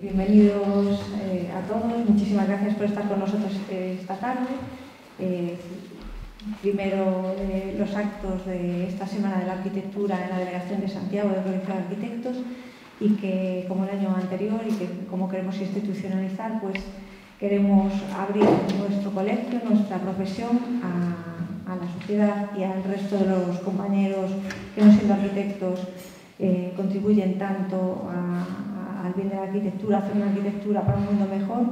Bienvenidos a todos, muchísimas gracias por estar con nosotros esta tarde. Primero los actos de esta Semana de la Arquitectura en la Delegación de Santiago del Colegio de Arquitectos, y que, como el año anterior y que como queremos institucionalizar, pues queremos abrir nuestro colegio, nuestra profesión a la sociedad y al resto de los compañeros que, no siendo arquitectos, contribuyen tanto al bien de la arquitectura, hacer una arquitectura para un mundo mejor.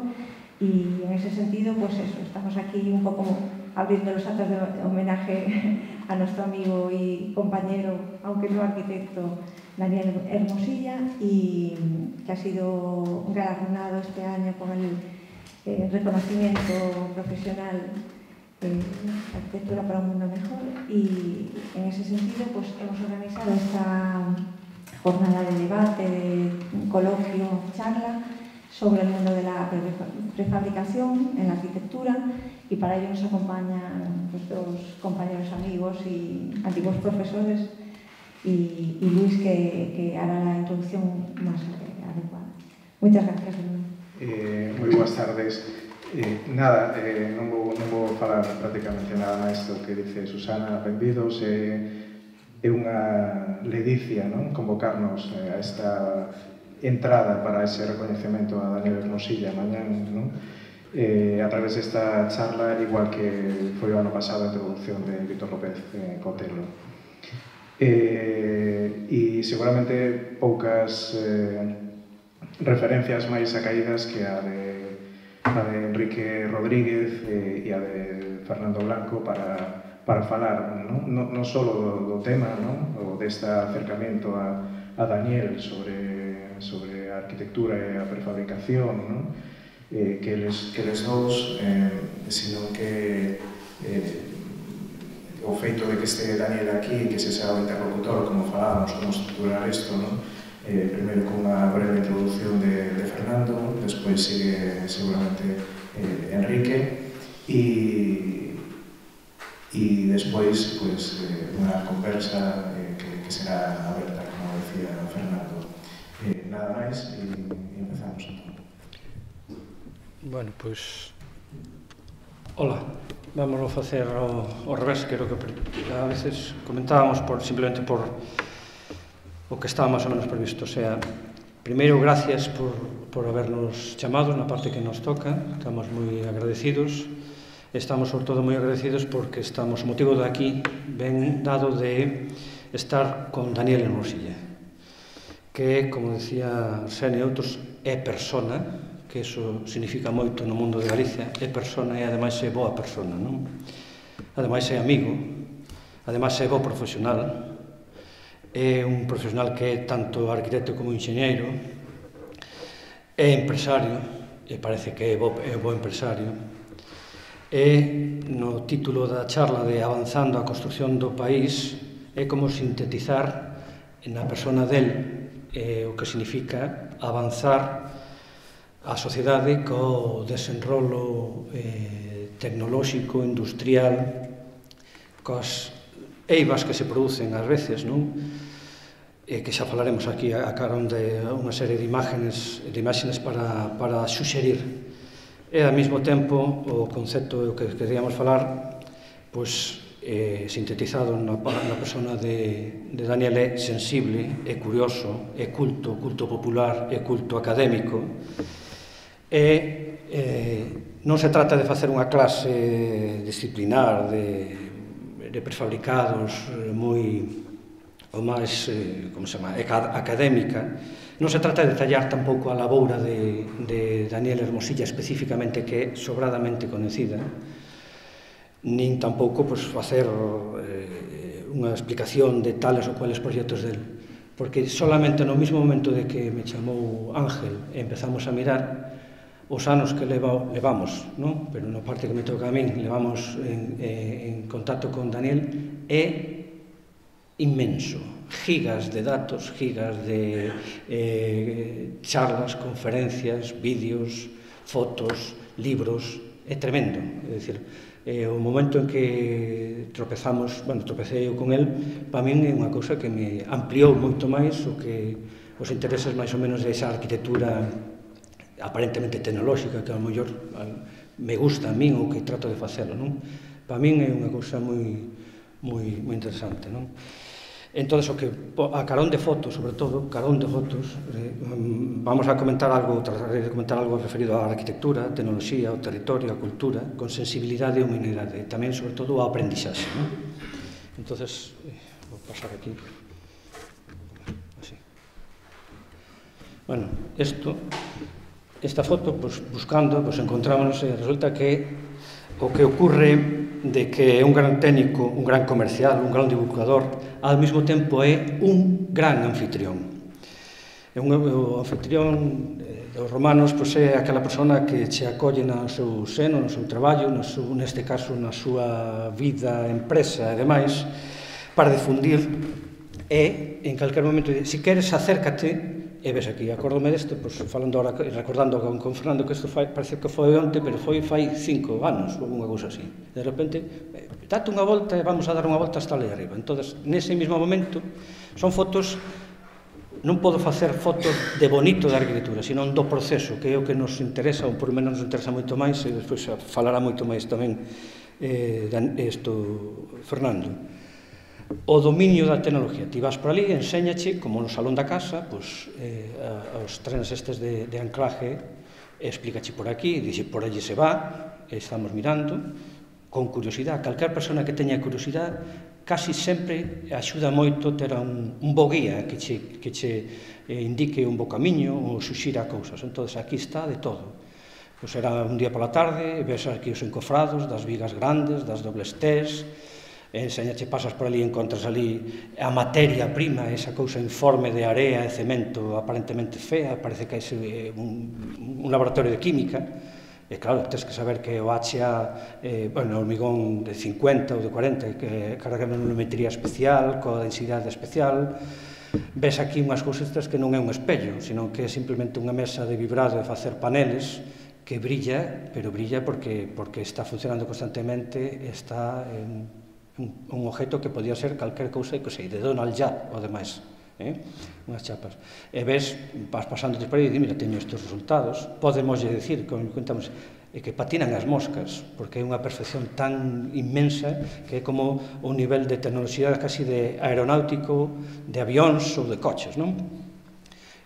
Y en ese sentido, pues eso, estamos aquí un poco abriendo los actos de homenaje a nuestro amigo y compañero, aunque no arquitecto, Daniel Hermosilla, y que ha sido galardonado este año con el reconocimiento profesional de Arquitectura para un Mundo Mejor. Y en ese sentido, pues hemos organizado esta jornada de debate, de coloquio, charla sobre el mundo de la prefabricación en la arquitectura, y para ello nos acompañan dos compañeros amigos y antiguos profesores, y Luis, que hará la introducción más adecuada. Muchas gracias. Moi boas tardes. Non vou falar prácticamente nada máis do que dice Susana. Benvidos. É unha ledicia, non, convocarnos a esta entrada para ese recoñecemento a Daniel Hermosilla mañán, non? A través desta charla, igual que foi o ano pasado a introducción de Víctor López Cotelo. E seguramente poucas referencias máis acaídas que a de Enrique Rodríguez e a de Fernando Blanco para falar non só do tema, ou deste acercamento a Daniel sobre a arquitectura e a prefabricación, que eles dous, senón que o feito de que este Daniel aquí, que se sea o interlocutor, como falábamos, como estruturar isto, primeiro con unha breve introducción de Fernando, despois sigue seguramente Enrique, e despois unha conversa que será aberta, como decía Fernando. Nada máis, e empezamos entón. Bueno, pois... Hola, vámonos a facer ao revés, que a veces comentábamos simplemente por o que estaba máis ou menos previsto. O sea, primeiro, gracias por habernos chamado na parte que nos toca, estamos moi agradecidos. Estamos, sobre todo, moi agradecidos porque o motivo de aquí ven dado de estar con Daniel Hermosilla, que, como decía Arsenio e outros, é persona, que iso significa moito no mundo de Galicia, é persona e ademais é boa persona, non? Ademais é amigo, ademais é bo profesional, é un profesional que é tanto arquitecto como enxeñeiro, é empresario, e parece que é bo empresario, e no título da charla de Avanzando a construción do país é como sintetizar na persona del o que significa avanzar a sociedade co desenrolo tecnolóxico, industrial, coas eivas que se producen ás veces, non? Que xa falaremos aquí a carón de unha serie de imágenes para suxerir. E, ao mesmo tempo, o concepto que queríamos falar, pois, sintetizado na persona de Daniel, é sensible, é curioso, é culto popular, é culto académico. Non se trata de facer unha clase disciplinar de prefabricados moi o máis, como se chama, académica. Non se trata de detallar tampouco a laboura de Daniel Hermosilla especificamente, que é sobradamente coñecida, nin tampouco facer unha explicación de tales ou cuales proxectos del, porque solamente no mesmo momento de que me chamou Ángel e empezamos a mirar os anos que levamos, non? Pero na parte que me toca a min, levamos en contacto con Daniel, é inmenso. Gigas de datos, gigas de charlas, conferencias, vídeos, fotos, libros, é tremendo. É dicir, o momento en que tropecei con el, para min é unha cousa que me ampliou moito máis os intereses máis ou menos desa arquitectura aparentemente tecnolóxica, que ao mellor me gusta a min ou que trato de facelo, non? Para min é unha cousa moi interesante, non? Entón, a carón de fotos, sobre todo, carón de fotos, vamos a comentar algo, trataré de comentar algo referido á arquitectura, a tecnoloxía, ao territorio, á cultura, con sensibilidade e humanidade, e tamén, sobre todo, ao aprendixaxe, non? Entón, vou pasar aquí. Así. Bueno, esta foto, buscando, encontrámonos, e resulta que o que ocurre de que é un gran técnico, un gran comercial, un gran divulgador, ao mesmo tempo é un gran anfitrión. O anfitrión dos romanos é aquela persona que che acolle no seu seno, no seu traballo, neste caso na súa vida, empresa e demais, para difundir e, en calquer momento, se queres, acércate. E ves aquí, acórdome desto, falando ahora, recordando con Fernando que isto parece que foi onte, pero foi fai 5 anos, ou unha cousa así. De repente, date unha volta e vamos a dar unha volta hasta ali arriba. Entón, nese mesmo momento, son fotos, non podo facer fotos de bonito da arquitectura, senón do proceso, que é o que nos interesa, ou por menos nos interesa moito máis, e despois falará moito máis tamén Fernando. O dominio da tecnología. Ti vas por ali, enséñache, como no salón da casa, os trenes estes de anclaje, explícache por aquí, dixe por allí se va, estamos mirando, con curiosidade. Calquer persona que teña curiosidade, casi sempre axuda moito ter un bo guía que che indique un bo camiño ou suxira cousas. Entón, aquí está de todo. Pois era un día pola tarde, ves aquí os encofrados das vigas grandes, das dobles T's, enseñache, pasas por ali e encontras ali a materia prima, esa cousa informe de area e cemento aparentemente fea, parece que é un laboratorio de química, e claro, tens que saber que o HA, o hormigón de 50 ou de 40, que carga unha volumetría especial, coa densidade especial. Ves aquí unhas cousas que non é un espello, sino que é simplemente unha mesa de vibrado de facer paneles que brilla, pero brilla porque está funcionando constantemente, está un objeto que podía ser calquer cousa que sei, de Donald Judd ou demais, unhas chapas. E ves, vas pasando por aí e mira, teño estes resultados, podemos dicir, como contamos, que patinan as moscas, porque é unha perfección tan inmensa que é como un nivel de tecnoloxía casi de aeronáutico, de avións ou de coches, non?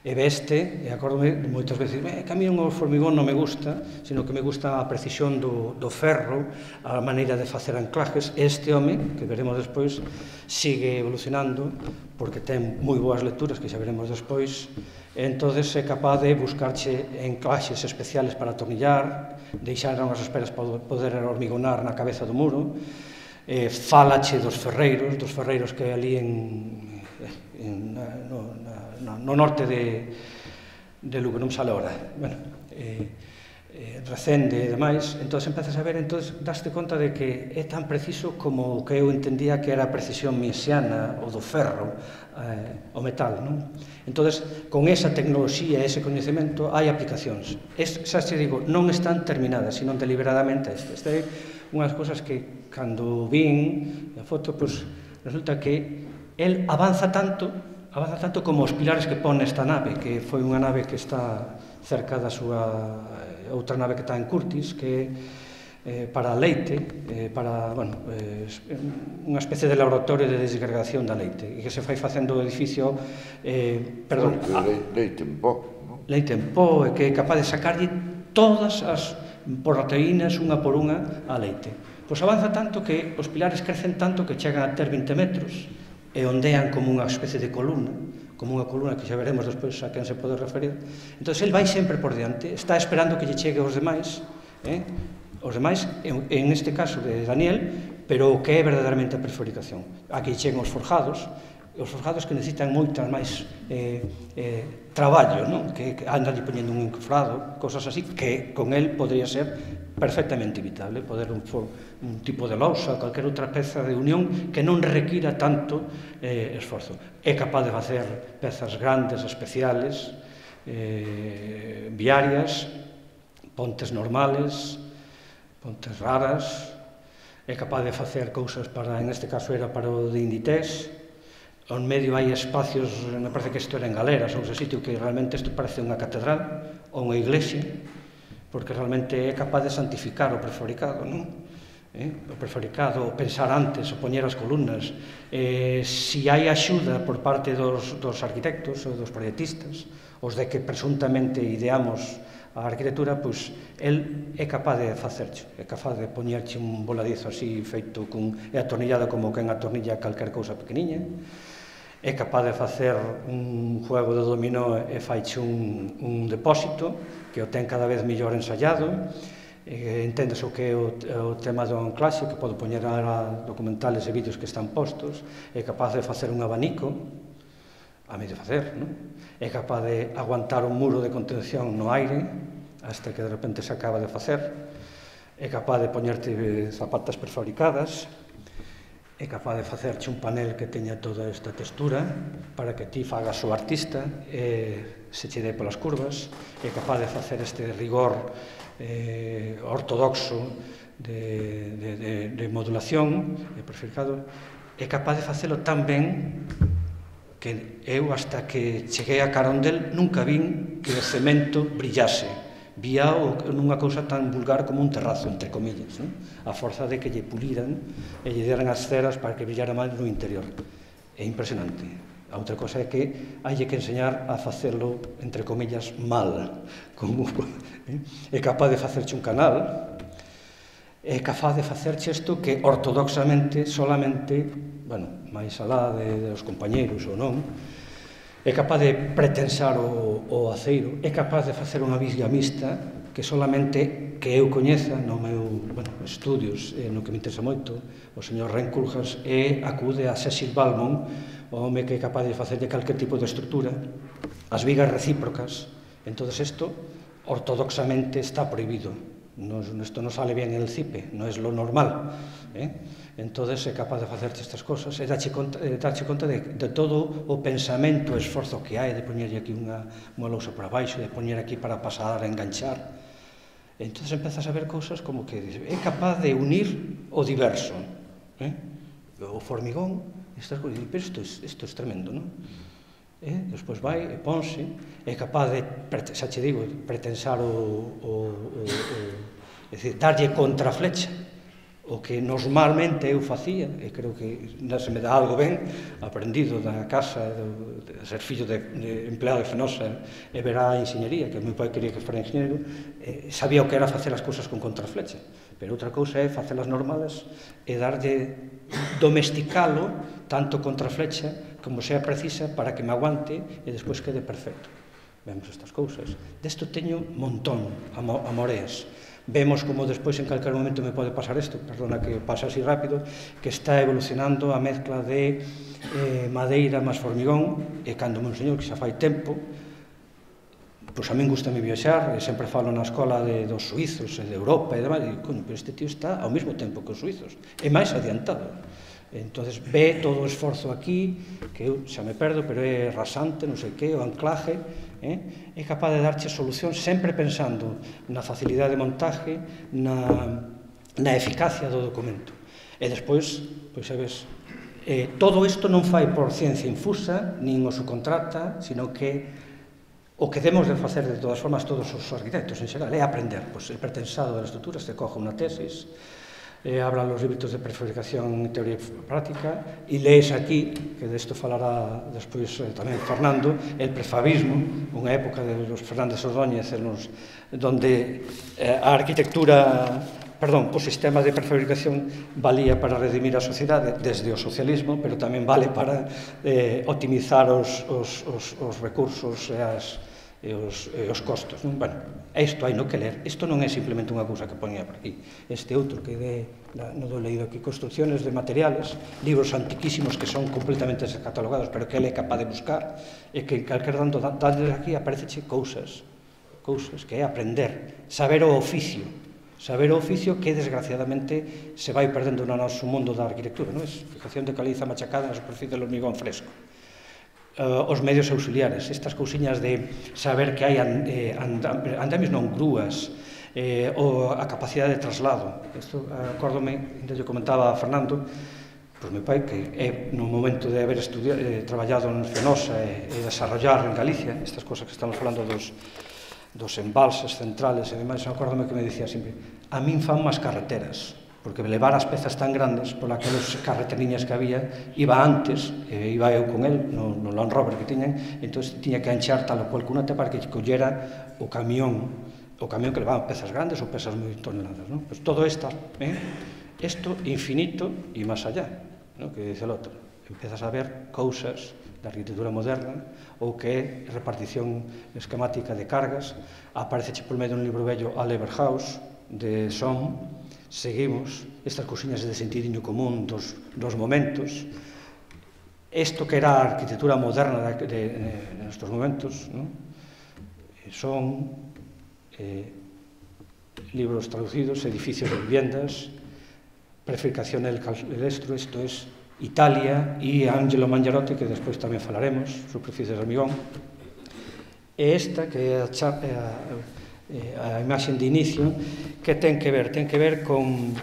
E veste, e acórdome moitas veces, que a mí o formigón non me gusta, sino que me gusta a precisión do ferro, a maneira de facer anclajes. Este home, que veremos despois, sigue evolucionando, porque ten moi boas lecturas, que xa veremos despois, e entón é capaz de buscarche anclaxes especiales para atornillar, deixar unhas esperas para poder hormigonar na cabeza do muro, falache dos ferreiros que ali no norte de Lugo, non me sale ahora, Recende e demais, entón empezas a ver, entón daste conta de que é tan preciso como o que eu entendía que era a precisión mesiana ou do ferro, o metal, non? Entón, con esa tecnoloxía e ese coñecemento hai aplicacións. Xa te digo, non están terminadas, sino deliberadamente. Esta é unhas cousas que, cando vin a foto, resulta que el avanza tanto como os pilares que pon esta nave, que foi unha nave que está cerca da súa outra nave que está en Curtis, que é para leite, para, unha especie de laboratorio de desgregación da leite, e que se fai facendo o edificio, leite en pó, non? Leite en pó, e que é capaz de sacarlle todas as proteínas unha por unha a leite. Pois avanza tanto que os pilares crecen tanto que chegan a ter 20 metros, e ondean como unha especie de columna, como unha columna que xa veremos despois a quen se pode referir. Entón, el vai sempre por diante, está esperando que lle chegue aos demais, en este caso de Daniel, pero o que é verdadeiramente a preforicación. Aquí cheguen os forjados que necesitan moitas máis traballo, que andan poñendo un encofrado, cosas así, que con el podría ser perfectamente evitable, poder un tipo de lousa, calquer outra peza de unión que non requira tanto esforzo. É capaz de facer pezas grandes, especiales, viarias, pontes normales, pontes raras, é capaz de facer cousas para, en este caso era para o de Inditex, ao medio hai espacios, me parece que isto era en Galeras, ou ese sitio que realmente isto parece unha catedral ou unha iglesia, porque realmente é capaz de santificar o prefabricado, non? O prefabricado, o pensar antes, o poñer as columnas. Si hai axuda por parte dos arquitectos ou dos proyectistas, os de que presuntamente ideamos a arquitectura, pois el é capaz de facercho, é capaz de poñerche un voladizo así feito e atornillado como quen atornilla calquer cousa pequeniña, é capaz de facer un juego de dominó e faiche un depósito que o ten cada vez mellor ensayado, entendes o que é o tema do anclaxe, que pode poñer a documentales e vídeos que están postos, é capaz de facer un abanico, a medio facer, non? É capaz de aguantar un muro de contención no aire hasta que de repente se acaba de facer, é capaz de poñerte zapatas prefabricadas, é capaz de facerche un panel que teña toda esta textura para que ti fagas o artista e se che dé polas curvas, é capaz de facer este rigor ortodoxo de modulación e prefabricado, é capaz de facelo tan ben que eu, hasta que cheguei a Carondel, nunca vin que o cemento brillase. Vía nunha cousa tan vulgar como un terrazo, entre comillas, a forza de que lle puliran e lle deran as ceras para que brillara máis no interior. É impresionante. A outra cosa é que hai que enseñar a facelo, entre comillas, mal. É capaz de facerche un canal, é capaz de facerche isto que ortodoxamente, solamente, bueno, máis alá dos compañeiros ou non, é capaz de pretensar o aceiro, é capaz de facer unha viga mixta que solamente que eu coñeza no meu estudios, no que me interesa moito, o señor Renkulhas, acude a Cecil Balmon, o home que é capaz de facer de calquer tipo de estrutura, as vigas recíprocas. Entón, isto ortodoxamente está prohibido. Isto non sale bien en el CIPE, non é lo normal. Entón, é capaz de facerche estas cosas e darche conta de todo o pensamento, o esforzo que hai de poñerlle aquí unha lousa para baixo, de poñer aquí para pasar a enganchar. Entón, empezas a ver cousas como que é capaz de unir o diverso. O formigón, pero isto é tremendo, non? Despois vai e ponse, é capaz de, xa che digo, pretensar é dicir, darlle contraflecha, o que normalmente eu facía, e creo que se me dá algo ben, aprendido da casa, de ser fillo de empleado de Fenosa e ver a enxeñería, que o meu pai quería que fora enxeñeiro, sabía o que era facer as cousas con contraflecha, pero outra cousa é facelas normales e darlle, domesticalo, tanto contraflecha como sea precisa para que me aguante e despois quede perfecto. Vemos estas cousas. Desto teño montón, amoreas. Vemos como despois en calquer momento me pode pasar isto, perdona que pase así rápido, que está evolucionando a mezcla de madeira máis formigón, e cando me enseñou que xa fai tempo, pois a min gustame viaxar, e sempre falo na escola dos suizos e de Europa e demais, e coño, pero este tío está ao mesmo tempo que os suizos, é máis adiantado. Entón, ve todo o esforzo aquí, que eu xa me perdo, pero é rasante, non sei que, o anclaje, é capaz de darche solución sempre pensando na facilidade de montaje, na eficacia do documento. E despois, pois sabes, todo isto non fai por ciencia infusa, nin o subcontrata, sino que o que debemos de facer de todas formas todos os arquitectos en xeral é aprender, pois el pretensado das estruturas, te coja unha tesis, habla los libros de prefabricación en teoría y práctica, y lees aquí, que de esto falará despois tamén Fernando, el prefabismo, unha época de los Fernández Ordóñez, donde a arquitectura, o sistema de prefabricación valía para redimir a sociedade desde o socialismo, pero tamén vale para optimizar os recursos e os costos. Isto hai no que ler. Isto non é simplemente unha cousa que poñía por aquí. Este outro que non do leído aquí, Construcciones de materiales, libros antiquísimos que son completamente descatalogados, pero que ele é capaz de buscar, e que calquer dando aquí apareceche cousas que é aprender, saber o oficio que desgraciadamente se vai perdendo no noso mundo da arquitectura, non é? Fijación de caliza machacada na superficie do hormigón fresco. Os medios auxiliares, estas cousiñas de saber que hai andamios non grúas, a capacidade de traslado. Isto, acórdome, ainda lle comentaba a Fernando, Pois meu pai, que é no momento de haber traballado en Fenosa e desarrollar en Galicia estas cosas que estamos falando dos embalses centrales e demais, acórdame que me dicía sempre, a min fan máis carreteras, porque levar as pezas tan grandes por aquelas carreteriñas que había, iba antes, iba eu con el no Land Rover que tiñan, entón tiña que anchar tal o cual cunate para que collera o camión que levaba pezas grandes ou pezas moi toneladas, non? Pois todo isto infinito e máis allá, que dice el outro, empezas a ver cousas da arquitectura moderna ou que é repartición esquemática de cargas, aparece por medio un libro vello a Leverhaus de Sohm, seguimos estas cousiñas de sentidiño común dos momentos, isto que era a arquitectura moderna nestes momentos, son libros traducidos, edificios de viviendas, Prefabbricazione del Calestro, isto é Italia, e Angelo Mangiarotti, que despois tamén falaremos, Superficies de hormigón. E esta, que é a imaxe de inicio, que ten que ver con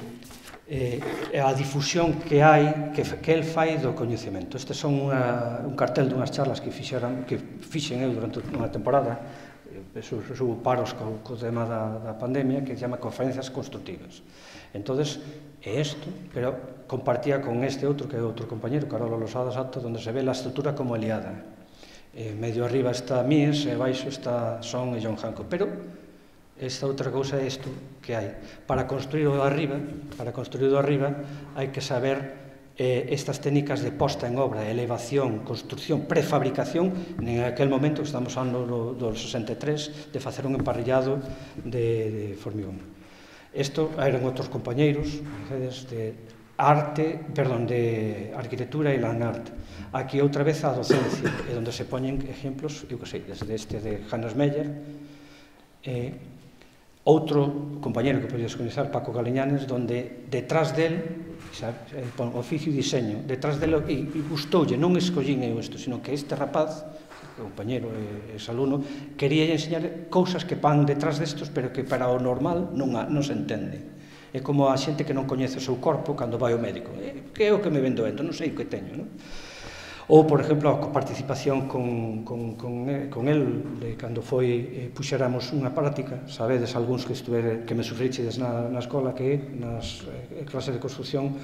a difusión que hai, que el fai do coñecemento. Este son un cartel dunhas charlas que fixen eu durante unha temporada, subo paros co tema da pandemia, que se chama Conferencias Constructivas. Entonces, é isto, pero compartía con este outro, que é outro compañero, Carolo Losada Sato, onde se ve a estrutura como aliada. Medio arriba está Mies, e baixo está Son e John Hancock. Pero esta outra cousa é isto que hai. Para construir o arriba, hai que saber estas técnicas de posta en obra, elevación, construcción, prefabricación, en aquel momento que estamos falando do 63, de facer un emparrillado de formigón. Isto eran outros compañeiros de arquitectura e land art. Aquí outra vez a docencia, onde se poñen exemplos, eu que sei, desde este de Hannes Meyer, outro compañeiro que podes coñecer, Paco Galiñanes, donde detrás del, oficio e diseño, detrás del, e gustoulle, non escollín eu isto, sino que este rapaz, compañero e exalumno, quería enseñar cousas que van detrás destos, pero que para o normal non se entende. É como a xente que non coñece o seu corpo cando vai ao médico. Que é o que me ven doendo? Non sei o que teño, non? Ou, por exemplo, a participación con el, cando puxéramos unha práctica, sabedes, algúns que me sufrichedes na escola, que nas clases de construcción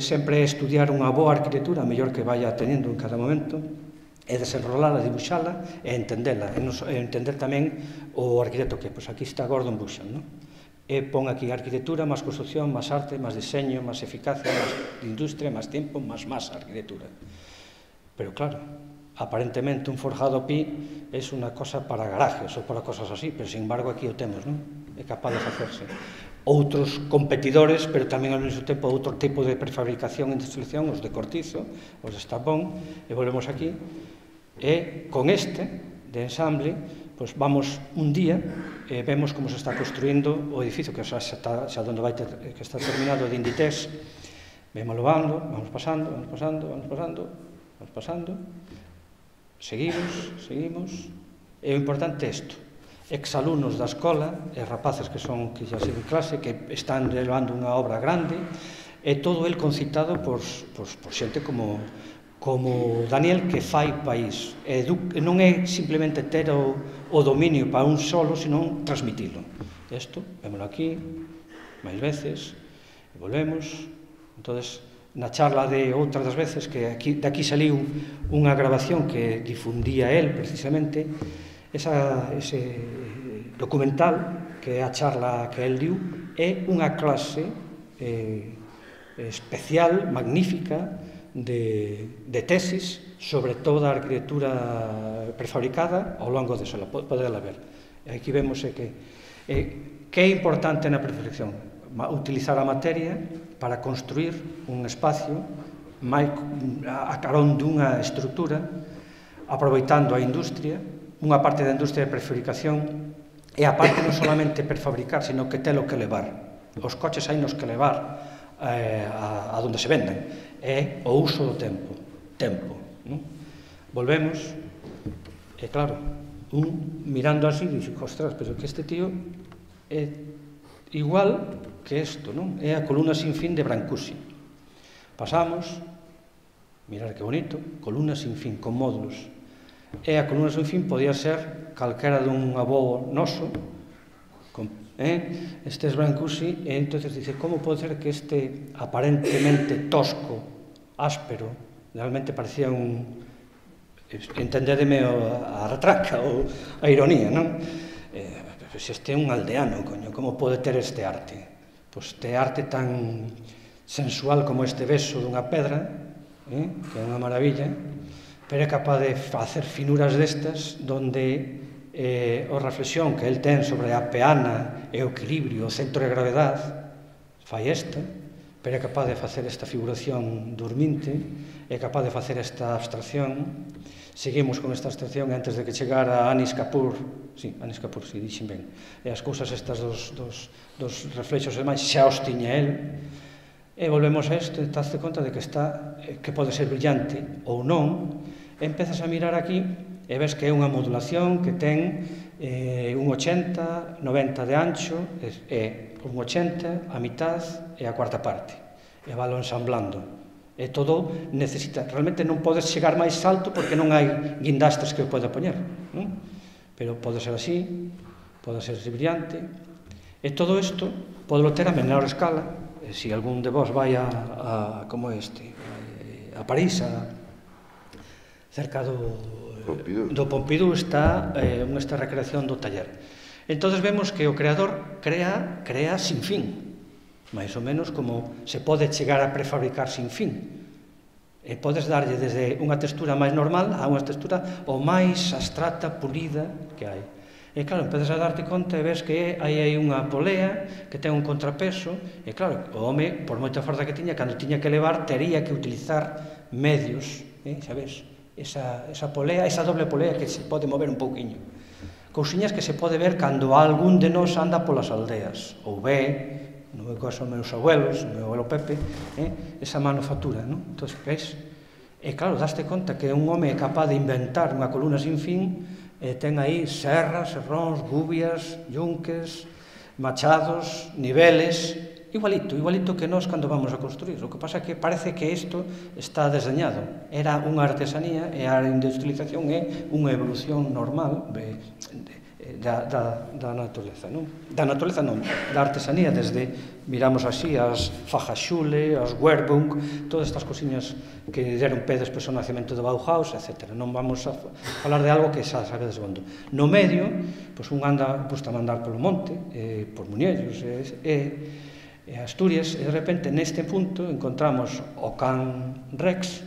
sempre é estudiar unha boa arquitectura, a mellor que vaya teniendo en cada momento, é desenrolala, dibuixala e entendela, e entender tamén o arquitecto que, pois aquí está Gordon Bushan, non? E pon aquí arquitectura, máis construcción, máis arte, máis diseño, máis eficacia, máis industria, máis tempo, máis arquitectura. Pero claro, aparentemente un forjado pi é unha cosa para garajes ou para cosas así, pero sin embargo aquí o temos, non? É capaz de facerse. Outros competidores, pero tamén ao mesmo tempo outro tipo de prefabricación e industrialización, os de cortizo, os de estapón, e volvemos aquí. E con este, de ensamble, pois vamos un día e vemos como se está construindo o edificio que xa onde vai que está terminado de Inditex. Vémolo vamos pasando, seguimos, e o importante é isto. Exalumnos da escola, e rapaces que xa siguen clase, que están levando unha obra grande, e todo el concitado por xente como Daniel, que fai país. Non é simplemente ter o dominio para un solo, senón transmitilo. Isto, vémolo aquí, máis veces, e volvemos. Entón, na charla de outras das veces, que de aquí saliu unha grabación que difundía el, precisamente, ese documental, que é a charla que el diu, é unha clase especial, magnífica, de tesis sobre toda a arquitectura prefabricada ao longo de sola, podela ver. Aquí vemos que é importante na prefabricación utilizar a materia para construir un espacio a carón dunha estrutura, aproveitando a industria, unha parte da industria de prefabricación, e a parte non solamente prefabricar, sino que telo que levar. Os coches hai nos que levar a donde se venden, é o uso do tempo. Volvemos, e claro, mirando así, dixe, ostras, pero que este tío é igual que isto, non? É a columna sin fin de Brancusi. Pasamos, mirar que bonito, columna sin fin, con módulos. E a columna sin fin podía ser calquera dun avó noso, estes Brancusi, e entón dice, como pode ser que este aparentemente tosco, áspero, realmente parecía un... entendedeme a retranca ou a ironía, non? Se este é un aldeano, coño, como pode ter este arte? Pois este arte tan sensual como este beso dunha pedra, que é unha maravilla, pero é capaz de facer finuras destas donde a reflexión que el ten sobre a peana e o equilibrio, o centro de gravedade, fai esta, pero é capaz de facer esta figuración dorminte, é capaz de facer esta abstracción. Seguimos con esta abstracción antes de que chegara Anish Kapoor, dixen ben, e as cousas estas dos reflexos e máis, xa os tiña el. E volvemos a isto, daste conta de que pode ser brillante ou non, e empezas a mirar aquí e ves que é unha modulación que ten un 80, 90 de ancho, e un 80, a mitad e a cuarta parte. E valo ensamblando. E todo necesita, realmente non podes chegar máis alto porque non hai guindastres que o poda poñer, non? Pero pode ser así, pode ser brillante, e todo isto pode ter a menor escala. Se algún de vos vai a París, cerca do Pompidou, está esta recreación do taller. Entón vemos que o creador crea sin fin, máis ou menos como se pode chegar a prefabricar sin fin. E podes darlle desde unha textura máis normal a unha textura o máis abstracta, pulida que hai. E claro, empezas a darte conta e ves que hai unha polea que ten un contrapeso, e claro, o home, por moita forza que tiña, cando tiña que levar, tería que utilizar medios, sabes? Esa polea, esa doble polea que se pode mover un pouquiño. Cousiñas que se pode ver cando algún de nós anda polas aldeas, ou ve, no meu caso, meus abuelos, o meu abuelo Pepe, esa manufactura, non? Entón, ves? E claro, daste conta que un home é capaz de inventar unha columna sin fin, ten aí serras, serróns, gubias, yunques, machados, niveles, igualito que nós cando vamos a construir. O que pasa é que parece que isto está deseñado. Era unha artesanía e a industrialización é unha evolución normal da natureza, non? Da natureza non, da artesanía, desde, miramos así, as Fajasule, as Werbung, todas estas cosiñas que deron pé despois ao nacemento do Bauhaus, etc. Non vamos a falar de algo que xa sabedes bondo. No medio, pois un anda, gusta mandar polo monte, por Muñellos e Asturias, e de repente neste punto encontramos o can Rex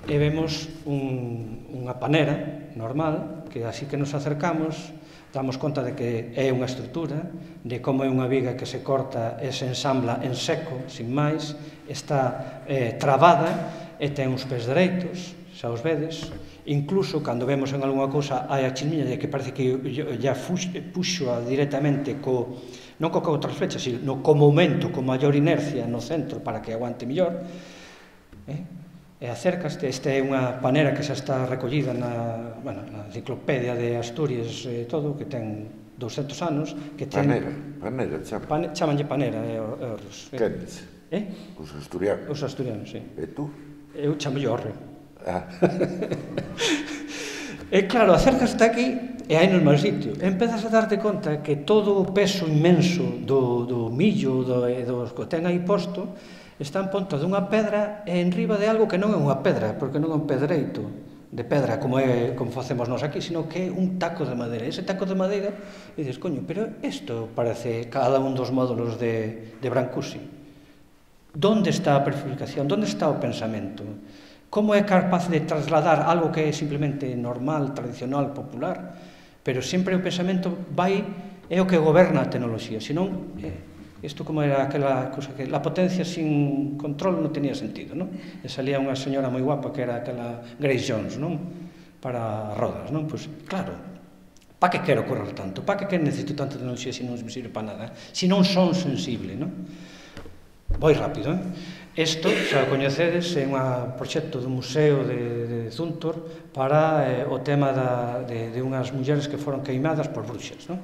e vemos unha panera normal, que así que nos acercamos damos conta de que é unha estrutura, de como é unha viga que se corta e se ensambla en seco, sin máis, está trabada e ten uns pés dereitos, xa os vedes. Incluso, cando vemos en algunha cousa hai a chismiña de que parece que ya puxo directamente non co outra flecha, sino co momento, con maior inercia no centro para que aguante mellor, e acércaste. Esta é unha panera que xa está recollida na enciclopedia de Asturias e todo, que ten 200 anos. Panera, chamanlle panera. Quenes? Os asturianos. Os asturianos, sí. E tú? Eu chamolle orre. E claro, acércaste aquí e hai no mal sitio. Empezas a darte conta que todo o peso inmenso do millo e dos que ten aí posto está en ponta dunha pedra e en riba de algo que non é unha pedra, porque non é un pedreito de pedra como facemos nós aquí, sino que é un taco de madeira. Ese taco de madeira, e dices, coño, pero isto parece cada un dos módulos de Brancusi. Donde está a prefabricación? Donde está o pensamento? Como é capaz de trasladar algo que é simplemente normal, tradicional, popular, pero sempre o pensamento é o que goberna a tecnoloxía, senón isto como era aquela cosa que la potencia sin control non tenía sentido, non? E salía unha señora moi guapa que era aquela Grace Jones, non? Para rodas, non? Pois claro, pa que quero correr tanto? Pa que necesito tanta tecnoloxía se non me sirve para nada? Se non son sensible, non? Voi rápido, Isto, xa o coñecedes, é un proxecto do Museo de Zúntor para o tema de unhas mulleres que foron queimadas por bruxas, non?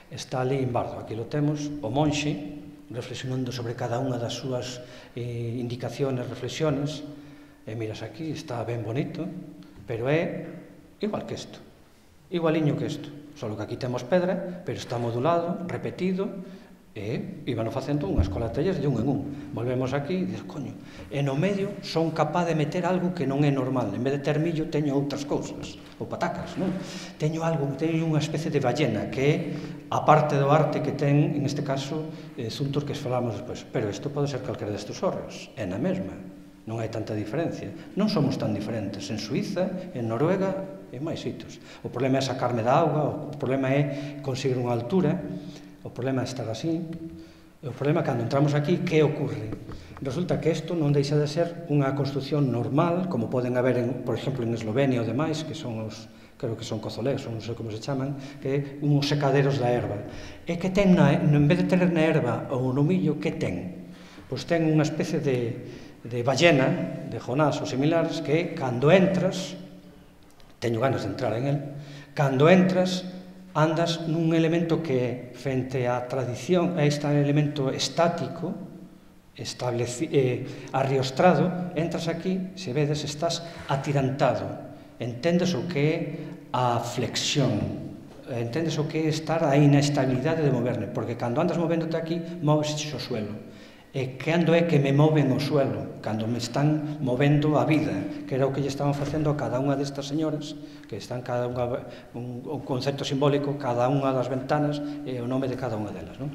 Está ali en Bardo, aquí lo temos, o monxe, reflexionando sobre cada unha das súas indicaciones, reflexiones, e miras aquí, está ben bonito, pero é igual que isto, igualiño que isto, só que aquí temos pedra, pero está modulado, repetido, e íbano facendo unhas colatellas de un en un. Volvemos aquí e dices, coño, e no medio son capaz de meter algo que non é normal. En vez de ter millo, teño outras cousas, ou patacas, non? Teño algo, teño unha especie de ballena, que é a parte do arte que ten, en este caso, Zuntos, que falamos despois. Pero isto pode ser calquera destes horros, é na mesma. Non hai tanta diferencia. Non somos tan diferentes en Suiza, en Noruega e máis sitios. O problema é sacarme da auga, o problema é conseguir unha altura, o problema é estar así, e o problema é cando entramos aquí, que ocorre? Resulta que isto non deixa de ser unha construcción normal, como poden haber, por exemplo, en Eslovenia ou demais, que son os, creo que son cozolés, ou non sei como se chaman, que é uns secaderos da erva. E que ten, en vez de ter na erva ou no millo, que ten? Pois ten unha especie de ballena, de Jonás ou similares, que cando entras, teño ganas de entrar en el, cando entras, andas nun elemento que, frente á tradición, a este elemento estático, arriostrado, entras aquí, se vedes, estás atirantado. Entendes o que é a flexión, entendes o que é estar a inestabilidade de moverme, porque cando andas movéndote aquí, moves o suelo. E cando é que me moven o suelo? Cando me están movendo a vida, que era o que lle estaban facendo a cada unha destas señoras, que están cada unha, un concepto simbólico, cada unha das ventanas e o nome de cada unha delas, non?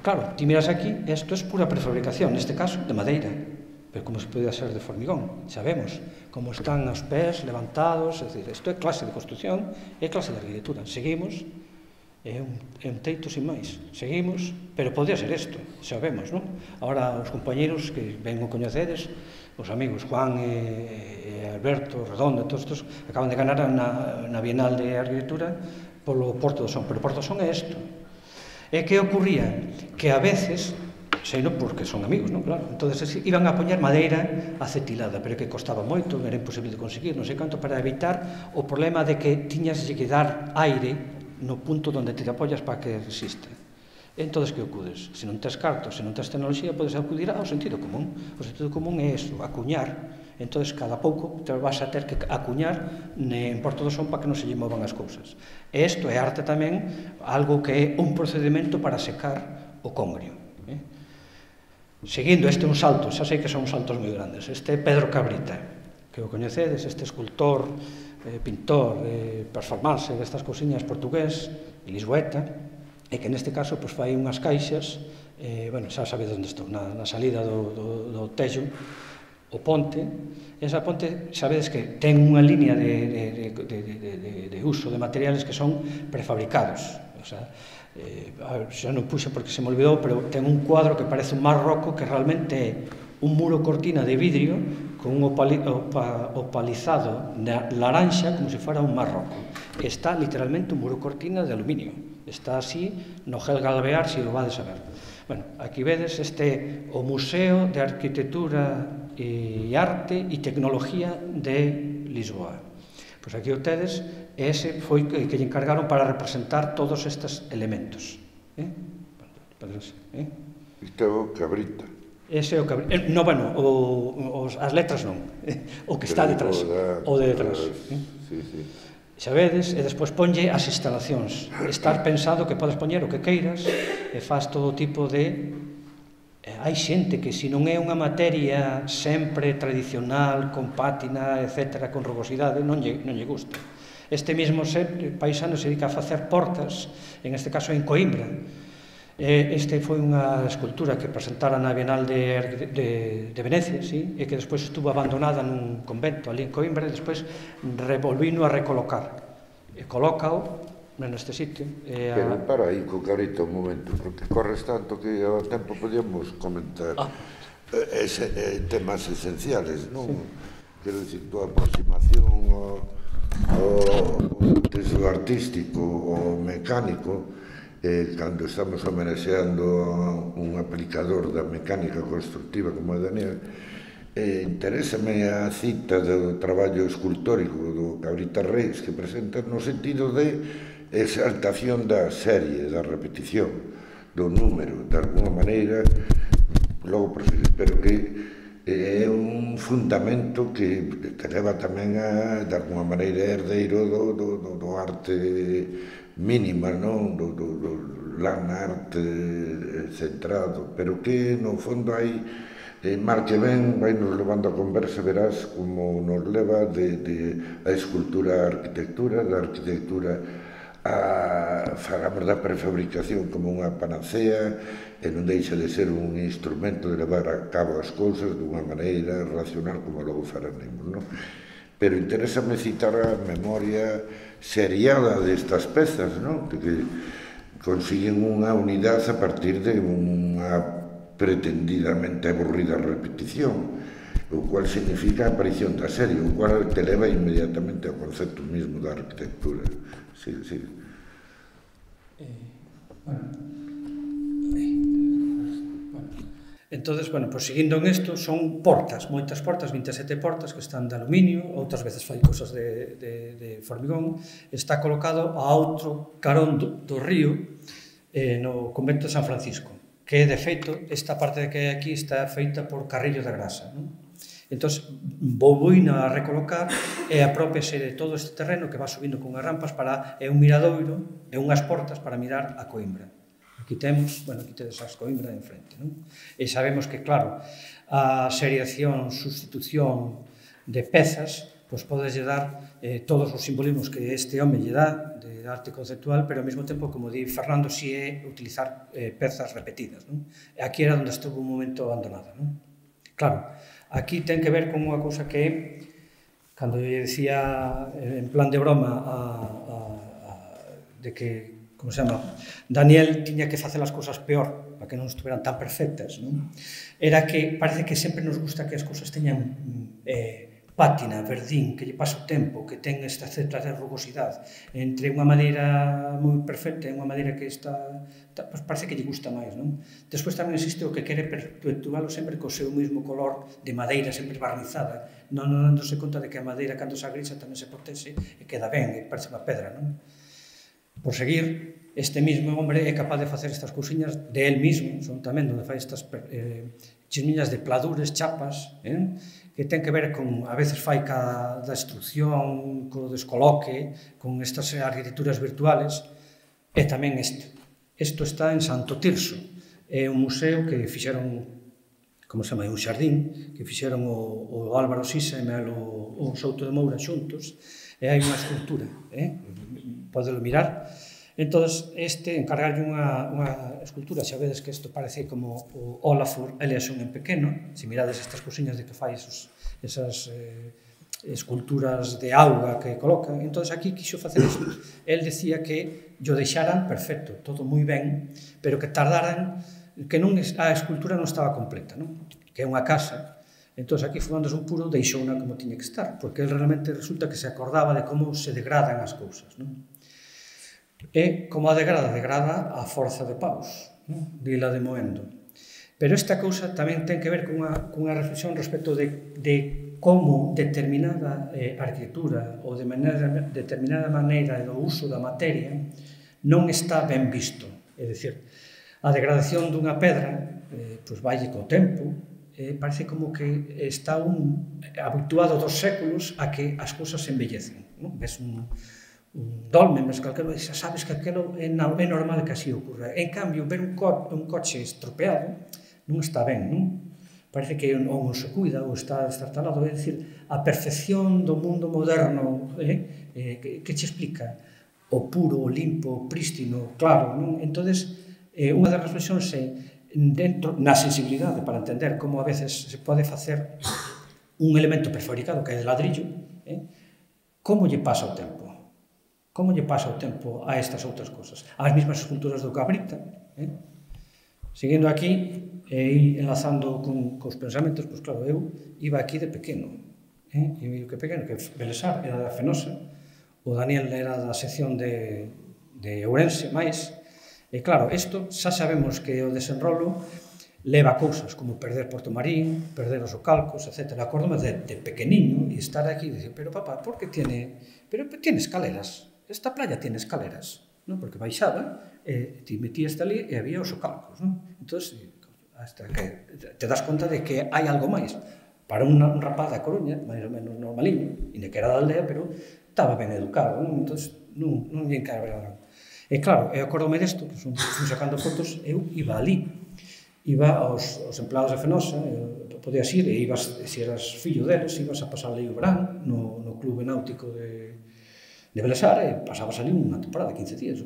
Claro, ti miras aquí, isto é pura prefabricación, neste caso de madeira, pero como se podía ser de formigón, sabemos como están os pés levantados, é dicir, isto é clase de construcción, é clase de arquitectura. Seguimos, é un teito sin máis, seguimos, pero podría ser isto, sabemos, non? Ahora os compañeros que ben o coñecedes, os amigos Juan e Alberto, Redondo, todos estos, acaban de ganar na Bienal de Arquitectura polo Porto do Son, pero o Porto do Son é isto. E que ocurría? Que a veces, sei non porque son amigos, non? Claro, entonces iban a poñer madeira acetilada, pero que costaba moito, era imposible de conseguir, non sei canto, para evitar o problema de que tiñas que dar aire no punto onde te apoias para que resiste. Entón, que acudes? Se non tes cartos, se non tes tecnoloxía, podes acudir ao sentido común. O sentido común é iso, acuñar. Entón, cada pouco te vas a ter que acuñar en Porto do Son para que non se lle movan as cousas. E isto é arte tamén, algo que é un procedimento para secar o congrio. Seguindo, este é un salto, xa sei que son saltos moi grandes. Este é Pedro Cabrita, que o coñecedes, este escultor, pintor, performance destas cousiñas portugués, lisboeta, e que neste caso fai unhas caixas, xa sabedes onde estou, na salida do Tello, o ponte. Esa ponte, sabedes que ten unha línea de uso de materiales que son prefabricados. Xa non puxo porque se me olvidou, pero ten un cuadro que parece un marroco, que realmente é un muro cortina de vidrio con un opalizado laranxa como se fora un marroco. Está literalmente un muro cortina de aluminio. Está así no Gel Galvear, se o vades a ver. Bueno, aquí vedes o Museo de Arquitectura e Arte e Tecnología de Lisboa. Pois aquí o tedes, ese foi que lle encargaron para representar todos estes elementos. Isto é o Cabrita. Ese é o Cabrita. No, bueno, as letras non. O que está detrás. O de detrás. Xa vedes, e despois ponlle as instalacións. Estar pensado que podes poñer o que queiras e faz todo tipo de... Hai xente que se non é unha materia sempre tradicional, con pátina, etc., con rugosidade, non lle gusta. Este mesmo paisano se dedica a facer portas, en este caso en Coimbra. Este foi unha escultura que presentara na Bienal de Venecia, e que despois estuvo abandonada nun convento ali en Coimbra, e despois revolvino a recolocar. E colócao neste sitio. Pero para aí, co Cabrita, un momento, porque corres tanto que ao tempo podíamos comentar temas esenciales, non? Quero dicir, tua aproximación ao texto artístico, ao mecánico, cando estamos homenaxeando un aplicador da mecánica constructiva como é Daniel, interésame a cita do traballo escultórico do Cabrita Reis que presenta no sentido de exaltación da serie, da repetición, do número, de alguna maneira, logo, pero que é un fundamento que leva tamén a, de alguma maneira, herdeiro do arte mínima, non? Do land arte centrado, pero que no fondo hai, mal que ben, vai nos levando a conversa, verás como nos leva a escultura a arquitectura, da arquitectura falamos da prefabricación como unha panacea e non deixa de ser un instrumento de levar a cabo as cousas dunha maneira racional como logo faremos, non? Pero interésame citar a memoria seriada destas pezas, non? Que consiguen unha unidade a partir de unha pretendidamente aburrida repetición, o cual significa a aparición da serie, o cual te leva inmediatamente ao concepto mismo da arquitectura. Sí, sí. Entonces, bueno, pues seguindo en isto, son portas, moitas portas, 27 portas que están de aluminio, outras veces fai cosas de formigón. Está colocado a outro carón do río no convento de San Francisco, que, de feito, esta parte que hai aquí está feita por Carrillo de Grasa, non? Entón, volvoina a recolocar e apropiase de todo este terreno que va subindo con as rampas para un miradoiro e unhas portas para mirar a Coimbra. Aquí temos, bueno, aquí tedes as Coimbra en frente, non? E sabemos que, claro, a seriación, sustitución de pezas, pois podes dar todos os simbolismos que este home lle dá de arte conceptual, pero ao mesmo tempo, como di Fernando, si é utilizar pezas repetidas, non? E aquí era onde estuvo un momento abandonada, non? Claro, aquí ten que ver con unha cousa que é, cando lle decía en plan de broma de que, como se chama, Daniel tiña que facer as cousas peor para que non estuveran tan perfectas, non? Era que parece que sempre nos gusta que as cousas teñan pátina, verdín, que lle pasa o tempo, que ten esta certa de rugosidade entre unha madeira moi perfecta e unha madeira que está, pues parece que lle gusta máis, non? Despois tamén existe o que quere perpetualo sempre co seu mesmo color de madeira sempre barnizada, non dándose conta de que a madeira cando se agrisa tamén se protexe e queda ben, e parece unha pedra, non? Por seguir, este mismo hombre é capaz de facer estas cousiñas de él mismo, son tamén onde fai estas chismiñas de pladures, chapas, que ten que ver con, a veces fai da instrucción, co descoloque, con estas arquitecturas virtuales, e tamén isto. Isto está en Santo Tirso, é un museo que fixeron, como se chama, un xardín, que fixeron o Álvaro Sisa e o Souto de Moura xuntos, e hai unha escultura, podelo mirar. Entón, encargarlle unha escultura, xa vedes que isto parece como o Olafur Eliasson en pequeno, se mirades estas cousiñas de que fai esas esculturas de auga que coloca. Entón, aquí quixo facer isto. El decía que yo deixaran perfecto, todo moi ben, pero que tardaran, que a escultura non estaba completa, non? Que é unha casa. Entón, aquí, fumándose un puro, deixouna como tiña que estar, porque el realmente resulta que se acordaba de como se degradan as cousas, non? E como a degrada a forza de paus, dila de Moendo. Pero esta cousa tamén ten que ver cunha reflexión respecto de como determinada arquitectura ou de determinada maneira do uso da materia non está ben visto. É dicir, a degradación dunha pedra pois valle co tempo, parece como que está habituado dos séculos a que as cousas se embellecen. Ves un dolmen, mas calquero, xa sabes que aquilo é normal que así ocurra. En cambio, ver un coche estropeado non está ben, non? Parece que non se cuida ou está destartalado. É dicir, a percepción do mundo moderno que che explica o puro, o limpo, o prístino, claro, non? Entón, unha das reflexións é dentro, na sensibilidade, para entender como a veces se pode facer un elemento prefabricado que é de ladrillo, como lle pasa o tempo? Como lle pasa o tempo a estas outras cosas? As mesmas esculturas do Cabrita. Seguindo aquí, e enlazando cos pensamentos, pois claro, eu iba aquí de pequeno. E que pequeno, que Belesar era da Fenosa, o Daniel era da sección de Ourense, máis. E claro, isto xa sabemos que o desenrolo leva cousas como perder Porto Marín, perder os Ocalcos, etc. Acórdome de pequeniño e estar aquí e dicir, pero papá, por que tiene escaleras? Esta playa tiene escaleras, non? Porque baixaba, te metías ali e había os Ocalcos, non? Entón, hasta que te das conta de que hai algo máis. para un rapaz da Coruña, máis ou menos normaliño, e que era da aldea, pero estaba ben educado, entón non lle encargaba. E claro, eu acordome desto, fui sacando fotos, eu iba ali, iba aos empleados de Fenosa, podías ir, e ibas, se eras fillo deles, ibas a pasar ali o verán, no clube náutico de Belesar, e pasabas ali unha temporada, 15 días,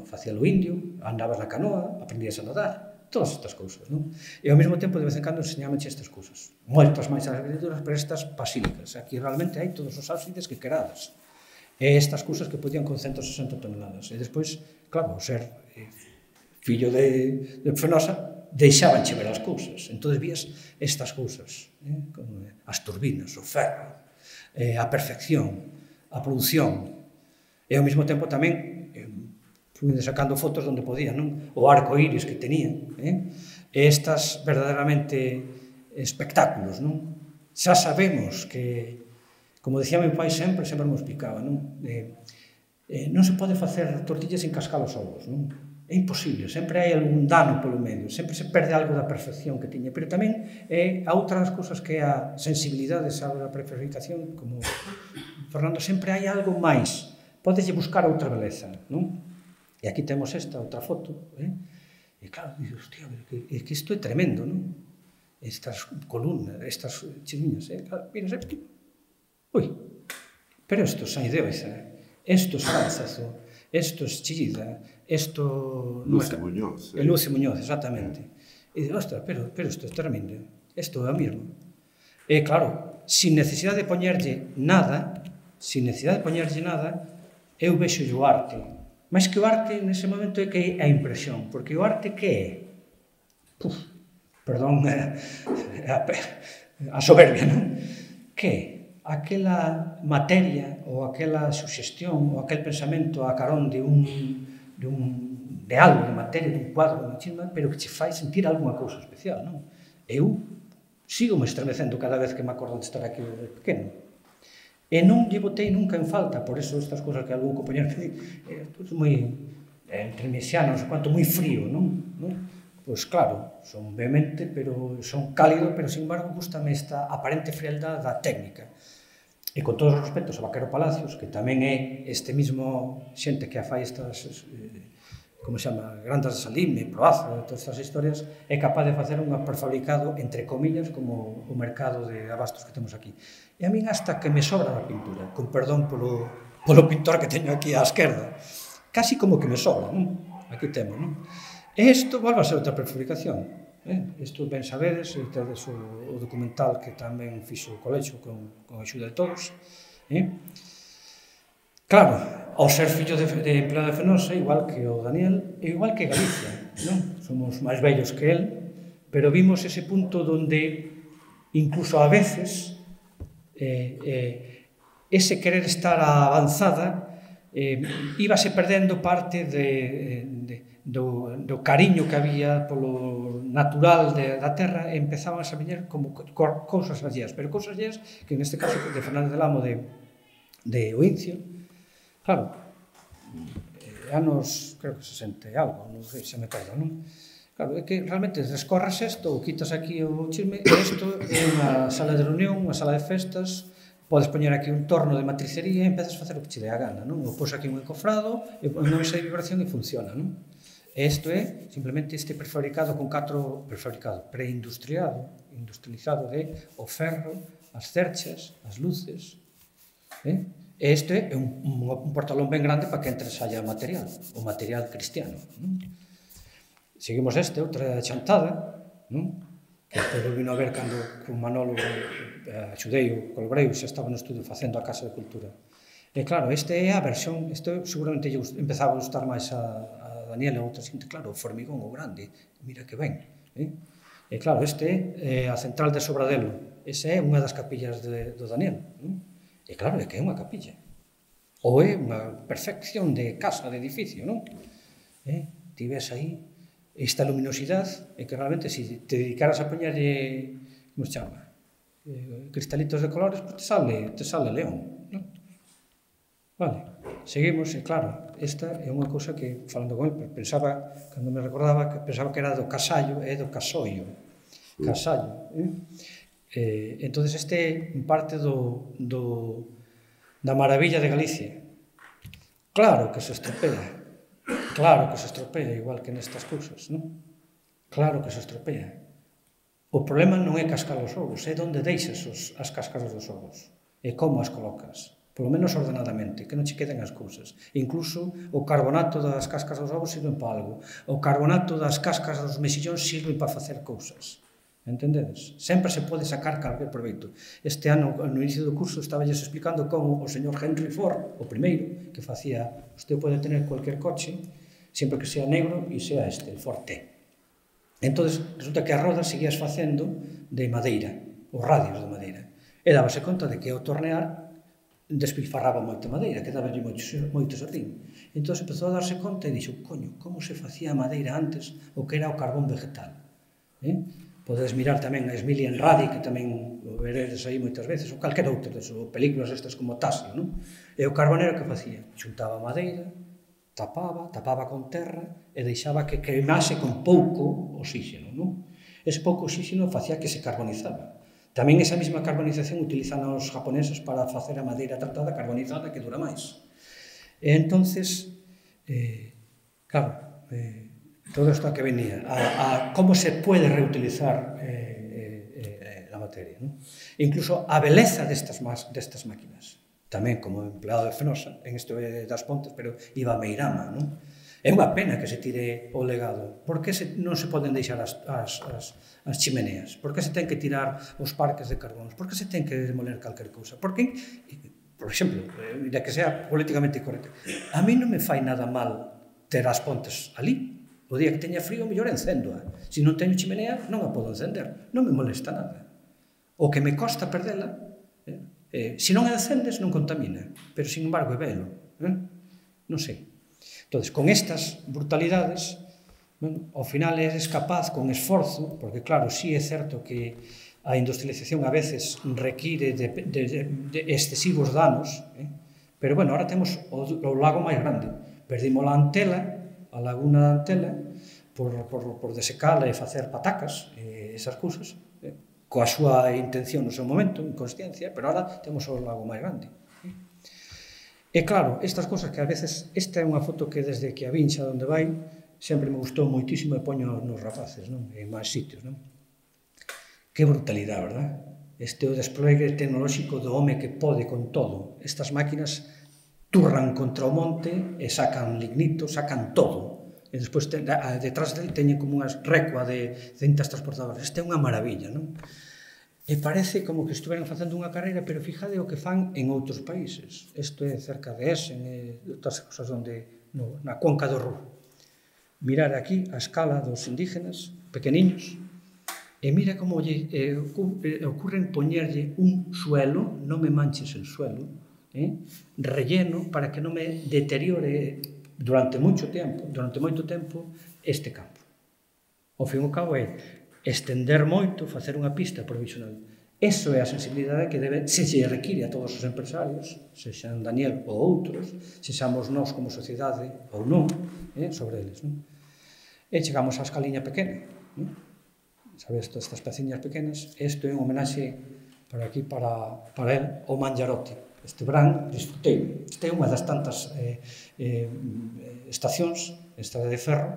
facía o indio, andabas na canoa, aprendías a nadar, todas estas cousas, non? E ao mesmo tempo, de vez en cando, enseñámanche estas cousas. Moitas máis as agriculturas, pero estas basílicas. Aquí realmente hai todos os ábsides que querades. E estas cousas que podían con 160 toneladas. E despois, claro, ser fillo de Fenosa, deixábanche ver as cousas. Entón vías estas cousas, as turbinas, o ferro, a perfección, a produción. E ao mesmo tempo tamén fui sacando fotos onde podía, non? O arco iris que tenía, e estas verdadeiramente espectáculos, non? Xa sabemos que, como decía meu pai sempre me explicaba, non? Non se pode facer tortillas sin cascar os ovos, non? É imposible, sempre hai algún dano polo medio, sempre se perde algo da perfección que tiña, pero tamén a outras cousas que é a sensibilidade, a prefabricación, como Fernando, sempre hai algo máis, podeslle buscar outra beleza, non? E aquí temos esta outra foto, e claro, dices, hostia, é que isto é tremendo, non? Estas columnas, estas chiriñas, claro, miras aquí, ui, pero isto é Saindeoiza, isto é Sálzazo, isto é Chillida, isto... Luce Muñoz. Luce Muñoz, exactamente. E dices, ostras, pero isto é tremendo, isto é o mesmo. E claro, sin necesidade de poñerlle nada, eu vexo o arte. Mas que o arte, nese momento, é que é a impresión. Porque o arte, que é? Perdón, a soberbia, non? Que é? Aquela materia, ou aquela suxestión, ou aquel pensamento a carón de algo, de materia, dun cuadro, dun chisma, pero que che fai sentir algunha cousa especial, non? Eu sigo me estremecendo cada vez que me acordo de estar aquí de pequeno. E non lle botei nunca en falta, por eso estas cousas que algún compañero me di, é moi, entre mesiano, non sei quanto, moi frío, non? Pois claro, son vehemente, pero son cálido, pero sin embargo gustame esta aparente frialdade da técnica. E con todos os respectos a Vaquero Palacios, que tamén é este mismo xente que fai estas, como se chama, Grandas de Salime, Proaza, todas estas historias, é capaz de facer un prefabricado, entre comillas, como o mercado de abastos que temos aquí. E a min hasta que me sobra da pintura, con perdón polo pintor que teño aquí á esquerda, casi como que me sobra, non? Aquí temos, non? E isto volve a ser outra prefabricación. Isto ben sabedes, tedes o documental que tamén fixo o colexo con a axuda de todos. Claro, ao ser fillo de empleado de Fenosa, igual que o Daniel, e igual que Galicia, non? Somos máis vellos que el, pero vimos ese punto donde, incluso a veces, ese querer estar a avanzada íbase perdendo parte do cariño que había polo natural da terra e empezaban a viñer como cousas alleas, pero cousas alleas que neste caso de Fernández del Amo de Oincio, claro, anos, creo que 60 e algo, non sei, xa me perdo, non? Claro, é que realmente descorres isto ou quitas aquí o chisme, e isto é unha sala de reunión, unha sala de festas, podes poñer aquí un torno de matricería e empezas a facer o que che dé a gana, non? Ou pos aquí un encofrado, e non esa vibración e funciona, non? E isto é simplemente este prefabricado con 4 preindustrializado de o ferro, as cerchas, as luces, e isto é un portalón ben grande para que entre e saia material, o material cristiano, non? Seguimos outra chantada, non? Que depois volvino a ver cando con Manolo axudei o Colbreu, xa estaba no estudio facendo a Casa de Cultura. E claro, esta é a versión, isto seguramente empezaba a gustar máis a Daniel e a outra xente, claro, o formigón o grande, mira que ben. E claro, este é a central de Sobradelo, esa é unha das capillas do Daniel. E claro, é que é unha capilla. Ou é unha perfección de casa, de edificio, non? Ti ves aí esta luminosidade, e que realmente, se te dedicaras a poñerlle, como se chama, cristalitos de colores, te sale león, non? Vale, seguimos, e claro, esta é unha cousa que, falando con el, pensaba, cando me recordaba, que pensaba que era do casallo, é do casollo, casallo. Entón, este é parte da maravilla de Galicia. Claro que se estropea, igual que nestas cousas, non? Claro que se estropea. O problema non é cascar os ovos, é onde deixas as cáscaras dos ovos, e como as colocas, polo menos ordenadamente, que non che queden as cousas. Incluso o carbonato das cáscaras dos ovos sirven para algo, o carbonato das cáscaras dos mexillóns sirven para facer cousas. Entendedes? Sempre se pode sacar calquer proveito. Este ano, no inicio do curso, estabales explicando como o señor Henry Ford, o primeiro, que facía, usted pode tener cualquier coche, sempre que sea negro e sea el Ford T. Entón, resulta que as rodas seguías facendo de madeira, os radios de madeira. E dábase conta de que ao tornear despilfarraba moita madeira, que dáballe moito sardín. Entón, empezou a darse conta e dixo, coño, como se facía a madeira antes o que era o carbón vegetal. Podedes mirar tamén a Smiljan Radi, que tamén o veredes aí moitas veces, ou calquera outra, ou películas estas como Tasio, non? E o carbonero que facía? Xuntaba madeira, tapaba con terra e deixaba que queimase con pouco oxígeno, non? Ese pouco oxígeno facía que se carbonizaba. Tamén esa mesma carbonización utilizan os japoneses para facer a madeira tratada carbonizada que dura máis. E entonces, claro, todo isto a que venía, a como se pode reutilizar a materia, non? Incluso a beleza destas máquinas. Tamén como empleado de Fenosa, en isto das Pontes, pero iba a Meirama, non? É unha pena que se tire o legado. Por que non se poden deixar as chimeneas? Por que se ten que tirar os parques de carbóns? Por que se ten que demoler calquer cousa? Por que, por exemplo, de que sea políticamente correcto, a mí non me fai nada mal ter as Pontes ali. O día que teña frío, mellor encendo. Se non teño chimenea, non a podo encender. Non me molesta nada. O que me costa perdela, se non encendes, non contamina. Pero, sin embargo, é velo. Non sei. Entón, con estas brutalidades, ao final eres capaz, con esforzo, porque, claro, sí é certo que a industrialización a veces require de excesivos danos, pero, bueno, ahora temos o lago máis grande. Perdimos a Antela, a laguna da Antela, por desecala e facer patacas, esas cousas, coa súa intención no seu momento, inconsciencia, pero ahora temos o lago máis grande. E claro, estas cousas que a veces, esta é unha foto que desde que a vin xa onde vai, sempre me gustou moitísimo e poño nos rapaces, non? En máis sitios, non? Que brutalidade, verdad? Este é o desplegue tecnolóxico do home que pode con todo. Estas máquinas turran contra o monte e sacan lignito, sacan todo. E despois, detrás dele, teñen como unha recua de cintas transportadoras. Esta é unha maravilla, non? E parece como que estuveran facendo unha carreira, pero fíjade o que fan en outros países. Isto é cerca de Essen e outras cosas onde, na cuenca do Ruhr. Mirar aquí a escala dos indígenas, pequeniños, e mira como ocurren poñerlle un suelo, non me manches el suelo, relleno para que non me deteriore durante moito tempo este campo. Ao fin e ao cabo é estender moito, facer unha pista provisional. Eso é a sensibilidade que se require a todos os empresarios, sexan Daniel ou outros, sexamos nós como sociedade ou non, sobre eles. E chegamos á escaliña pequena. Sabes, estas peciñas pequenas, isto é un homenaxe para aquí, para el, o Mangiarotti. Este verán, disfrutei. Esta é unha das tantas estacións, estrada de ferro.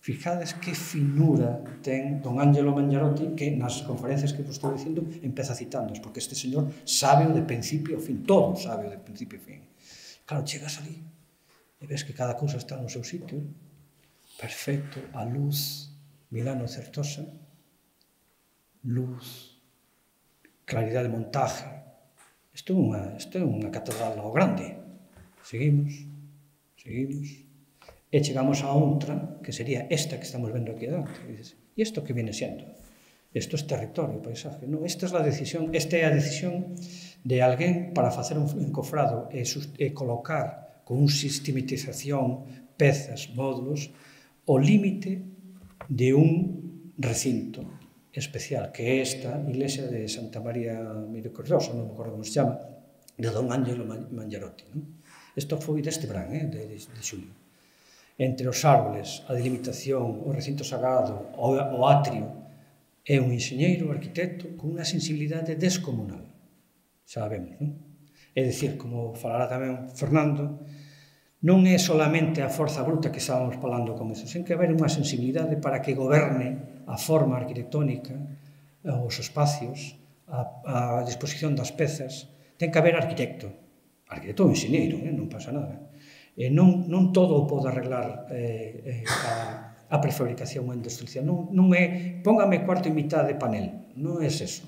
Fijades que finura ten don Angelo Mangiarotti, que nas conferencias que vos estou dicindo empeza citándoos, porque este señor sabe o de principio ao fin, todo sabe o de principio ao fin. Claro, chegas ali e ves que cada cousa está no seu sitio, perfecto, a luz, Milano Certosa, luz, claridade de montaje. Isto é unha catedral ao grande. Seguimos. E chegamos a outra, que sería esta que estamos vendo aquí adiante. E isto que viene sendo? Isto é territorio, paisaje. Esta é a decisión de alguén para facer un encofrado e colocar con un sistematización, pezas, módulos, o límite de un recinto especial, que é esta iglesia de Santa María Misericordiosa, non me acordo como se chama, de don Angelo Mangiarotti. Isto foi deste verán, de xulio. Entre os árboles, a delimitación, o recinto sagrado, o atrio, é un enxeñeiro, arquitecto, con unha sensibilidade descomunal. Xa vemos, non? É dicir, como falará tamén Fernando, non é solamente a forza bruta que estábamos falando con eso, sen que haber unha sensibilidade para que goberne a forma arquitectónica, os espacios, a disposición das pezas. Ten que haber arquitecto ou enxeñeiro, non pasa nada. Non todo o pode arreglar a prefabricación ou a industrialización. Non é, póngame cuarto e mitad de panel, non é eso.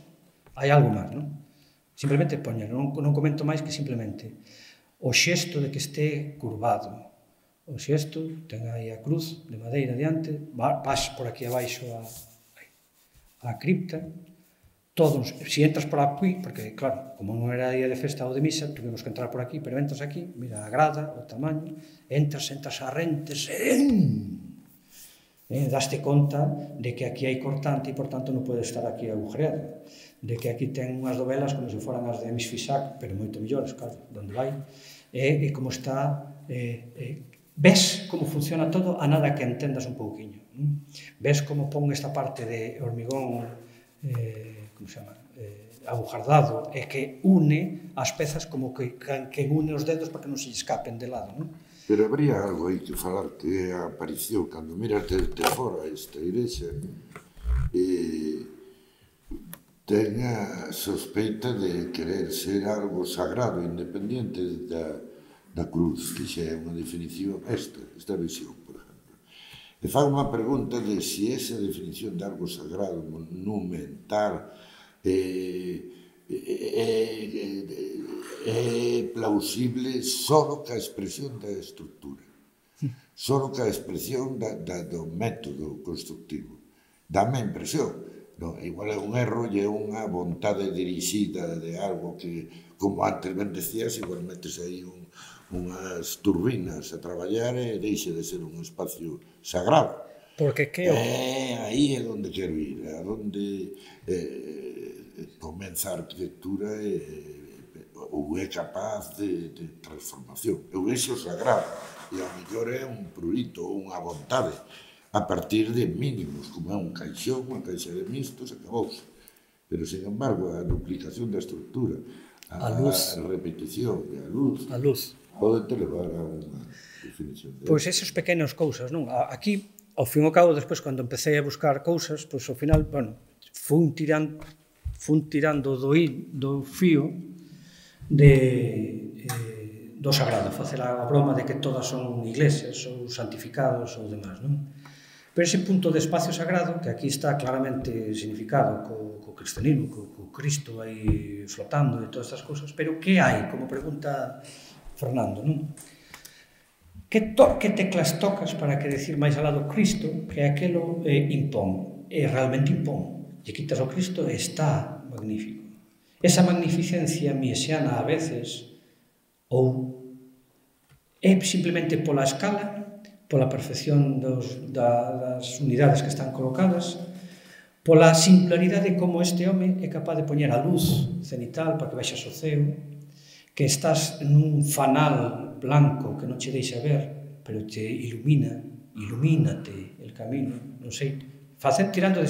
Hai algo máis, non? Simplemente poñer, non comento máis que simplemente o xesto de que este curvado, o xesto, ten aí a cruz de madeira diante, vas por aquí abaixo a cripta, todos, se entras por aquí, porque claro, como non era día de festa ou de misa, tuvimos que entrar por aquí, pero entras aquí, mira a grada, o tamaño, entras a rentes, daste conta de que aquí hai cortante e, por tanto, non pode estar aquí agujereado, de que aquí ten unhas dovelas como se foran as de Miss Fisac, pero moito millores, claro, donde vai, e como está, ves como funciona todo a nada que entendas un pouquiño, ves como pon esta parte de hormigón, como se chama, agujardado, e que une as pezas como que une os dedos para que non se escapen de lado, non? Pero habría algo aí que falar, que a aparición, cando miras desde fora esta igrexa, ten a sospeita de querer ser algo sagrado, independiente da cruz, que xa é unha definición, esta visión, por exemplo. E fai unha pregunta de se esa definición de algo sagrado, monumental, é plausible só ca expresión da estructura, só ca expresión do método constructivo. Dame a impresión, igual é un erro e é unha vontade dirixida de algo que, como antes ben decías, igual metes aí unhas turbinas a traballar e deixe de ser un espacio sagrado. Porque que aí é onde quero ir, a onde comeza a arquitectura ou é capaz de transformación. Eu vexo sagrado, e ao mellor é un prurito ou unha vontade, a partir de mínimos, como é un caixón, unha caixa de mistos, acabouse. Pero, sin embargo, a duplicación da estructura, a repetición e a luz, pode te levar a unha definición. Pois esas pequenas cousas, non? Aquí, ao fin e ao cabo, despois, cando empecé a buscar cousas, pois ao final, bueno, fun tirando do fío do sagrado, facer a broma de que todas son iglesias ou santificados ou demás, non? Pero ese punto de espacio sagrado, que aquí está claramente significado co cristianismo, co Cristo aí flotando e todas estas cousas, pero que hai, como pregunta Fernando, non? Que teclas tocas para que decir máis alá do Cristo que aquelo impón, e realmente impón. E quitas o Cristo e está magnífico. Esa magnificencia mesiana a veces ou é simplemente pola escala, pola perfección das unidades que están colocadas, pola singularidade como este home é capaz de poñer a luz cenital para que baixas o ceo, que estás nun fanal blanco que non che deixa ver, pero te ilumínate el camino, non sei, tirando de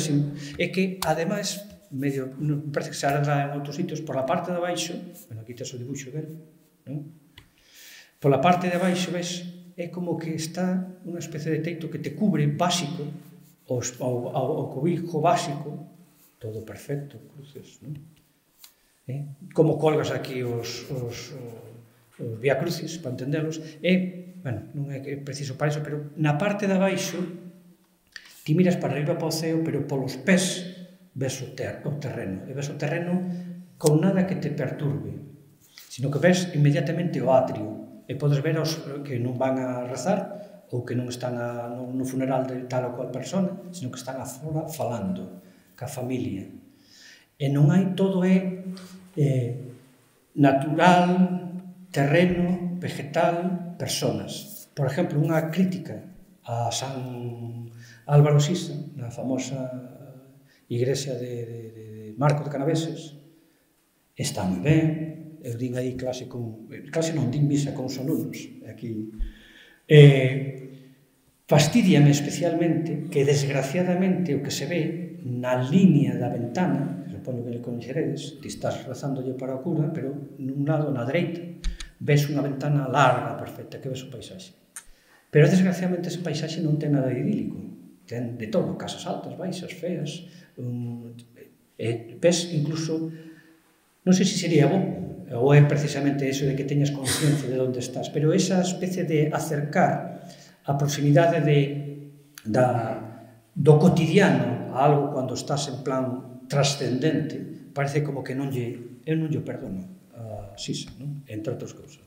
é que, ademais, medio, parece que se arregla en outros sitios, por la parte de abaixo, bueno, aquí tes o dibuixo dele, non? Por la parte de abaixo, ves, é como que está unha especie de teito que te cubre básico, o cobijo básico, todo perfecto, cruces, non? Como colgas aquí os vía crucis, para entenderlos, bueno, non é preciso para iso, pero na parte de abaixo, ti miras para arriba para o ceo, pero polos pés ves o terreno, e ves o terreno con nada que te perturbe, sino que ves inmediatamente o atrio, e podes ver os que non van a rezar, ou que non están no funeral de tal ou cual persona, sino que están afora falando ca familia. E non hai, todo é natural, terreno, vegetal, personas. Por exemplo, unha crítica a San Álvaro Sisa, na famosa igrexa de Marco de Canaveses, está moi ben, eu din aí clase non, din misa con os alumnos, aquí. Fastidiame especialmente que, desgraciadamente, o que se ve na línea da ventana, que supoño que le coñeceredes, ti estás rezándolle para a cura, pero nun lado, na dereita, ves unha ventana larga, perfecta, que ves o paisaxe. Pero, desgraciadamente, ese paisaxe non ten nada idílico. Ten de todo, casas altas, baixas, feas. Ves, incluso, non sei se sería bo, ou é precisamente eso de que teñas consciencia de onde estás, pero esa especie de acercar a proximidade do cotidiano a algo cando estás en plan trascendente, parece como que eu non lle perdono a Sisa, entre outras cousas.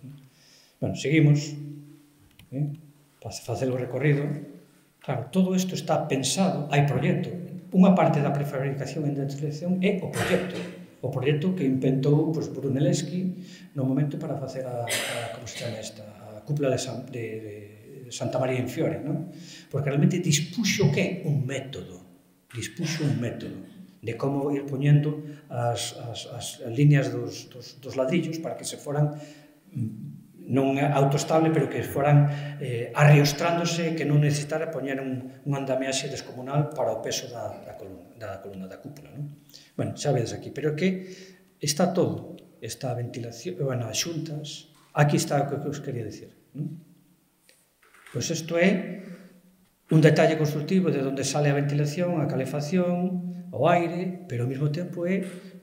Bueno, seguimos, para facer o recorrido. Claro, todo isto está pensado, hai proxecto. Unha parte da prefabricación e industrialización é o proxecto que inventou Brunelleschi no momento para facer a cúpula de Santa María in Fiore, porque realmente dispuxo un método de como ir poñendo as líneas dos ladrillos para que se foran non autoestable, pero que foran arriostrándose, que non necesitara poñer un andamiaxe descomunal para o peso da columna, da cúpula. Bueno, xa vedes aquí, pero que está todo, está a ventilación, as xuntas, aquí está o que os quería dicir. Pois isto é un detalle constructivo de onde sale a ventilación, a calefacción, o aire, pero ao mesmo tempo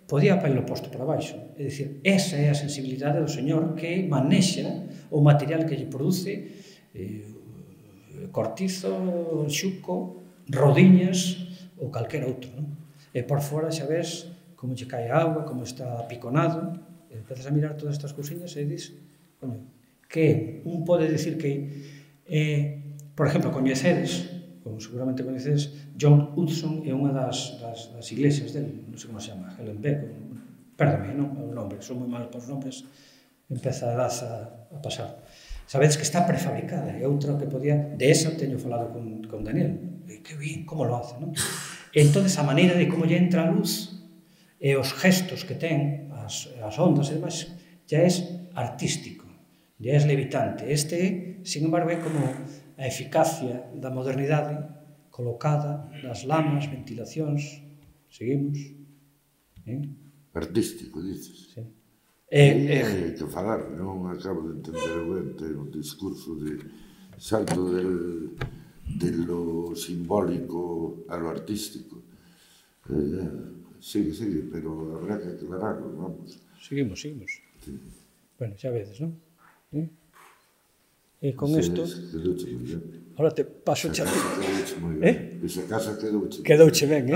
podía haberlo posto para baixo. É dicir, esa é a sensibilidade do señor que manexa o material que lle produce cortizo, xuco, rodiñas ou calquera outro. E por fora xa ves como lle cae a auga, como está piconado, e empezas a mirar todas estas cousiñas e dis, que un pode dicir que, por exemplo, coñecedes, como seguramente coñecedes, John Hudson é unha das iglesias del, non sei como se chama, Hellenbeck, perdame, non o nome, son moi mal para os nombres, empeza a edad a pasar. Sabedes que está prefabricada, é outra que podía, de esa teño falado con Daniel, e que bien, como lo hace, non? E entón, a maneira de como lle entra a luz e os gestos que ten, as ondas e demais, ya é artístico, ya é levitante. Este, sin embargo, é como a eficacia da modernidade colocada nas lamas, ventilacións. Seguimos. Artístico, dices. Sí. Hai que falar, non acabo de entender ben, ten un discurso de salto de lo simbólico a lo artístico. Sigue, pero habrá que aclararlo, vamos. Seguimos. Sí. Bueno, xa vedes, non? E con isto... Quedouche moi ben. Ahora te paso xa... Quedouche moi ben. Esa casa quedouche. Quedouche ben,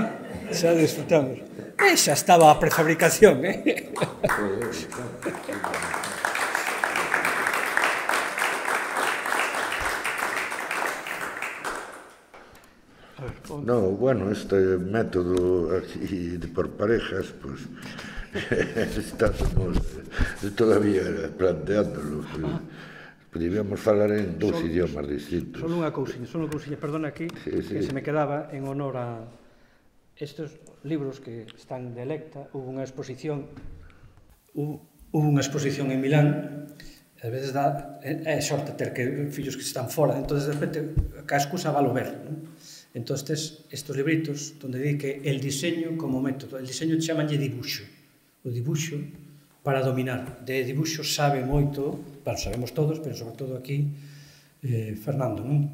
Xa disfrutamos. Xa estaba a prefabricación, No, bueno, este método aquí de por parejas, pues estamos todavía planteándolo. Podríamos falar en dous idiomas distintos. Só unha cousiña, perdona aquí, que se me quedaba en honor a estes libros que están de Electa. Hubo unha exposición en Milán, ás veces é sorte ter que fillos que están fora, entón de repente ca excusa valo ver, entón estes libritos onde di que el diseño como método, el diseño chamanlle dibuixo, o dibuixo para dominar. De dibuixo sabe moito, bueno, sabemos todos, pero sobre todo aquí Fernando, non?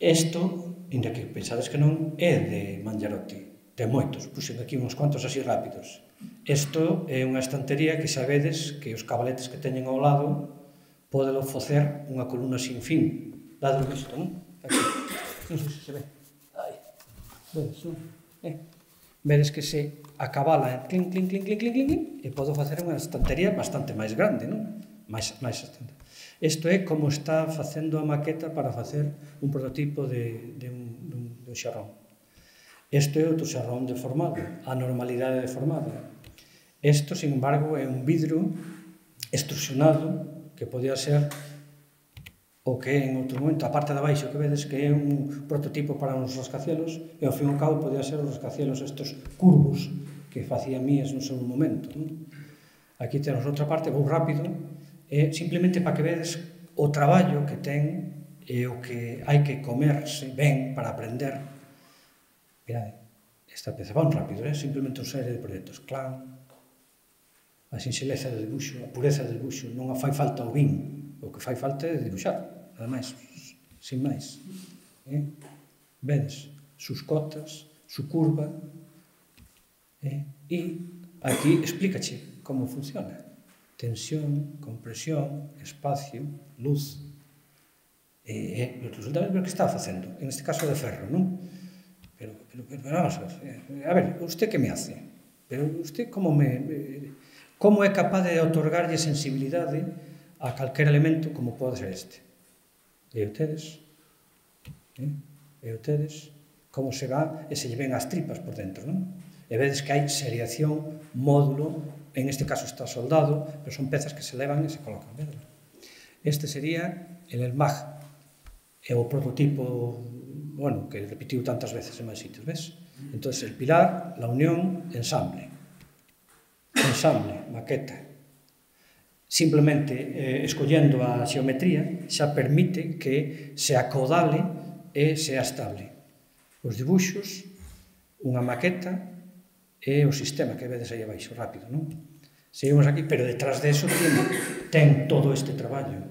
Isto, inda que pensades que non, é de Mangiarotti, ten moitos, puxen aquí uns cuantos así rápidos. Isto é unha estantería que sabedes que os cabaletes que teñen ao lado podelo facer unha columna sin fin. Dado isto, non? Aquí. Non sei se se ve. Vedes, non? Vedes que se acabala clink, e podo facer unha estantería bastante máis grande, non? máis estante. Isto é como está facendo a maqueta para facer un prototipo de un xarrón. Isto é outro xarrón deformado, a normalidade deformada. Isto, sin embargo, é un vidro extrusionado que podía ser o que en outro momento, a parte de abaixo que vedes que é un prototipo para uns rascacielos, e ao fin e ao cabo podía ser os rascacielos estes curvos que facían mías no seu momento. Aquí temos outra parte, vou rápido, simplemente para que vedes o traballo que ten e o que hai que comerse ben para aprender. Mirade, esta peza van rápido, simplemente unha serie de proxectos. Clan, a sinxeleza do dibuixo, a pureza do dibuixo, non fai falta o vin, o que fai falta é dibuixar, ademais, sin máis. Vedes, sus cotas, su curva, e aquí explícache como funciona. Tensión, compresión, espacio, luz. Resulta ver o que está facendo, en este caso de ferro, non? Pero vamos a ver, usted que me hace? Pero usted como é capaz de otorgarlle sensibilidade a calquer elemento como pode ser este? E ustedes como se va e se lle ven as tripas por dentro, non? E vedes que hai seriación, módulo, en este caso está soldado, pero son pezas que se levan e se colocan, vedes? Este sería el ELMAG, é o prototipo, bueno, que repetiu tantas veces en máis sitios, ves? Entón, el pilar, la unión, ensamble, maqueta. Simplemente, escollendo a xeometría, xa permite que se acodale e sea estable. Os dibuixos, unha maqueta e o sistema que vedes aí abaixo, rápido, non? Seguimos aquí, pero detrás de eso ten todo este traballo.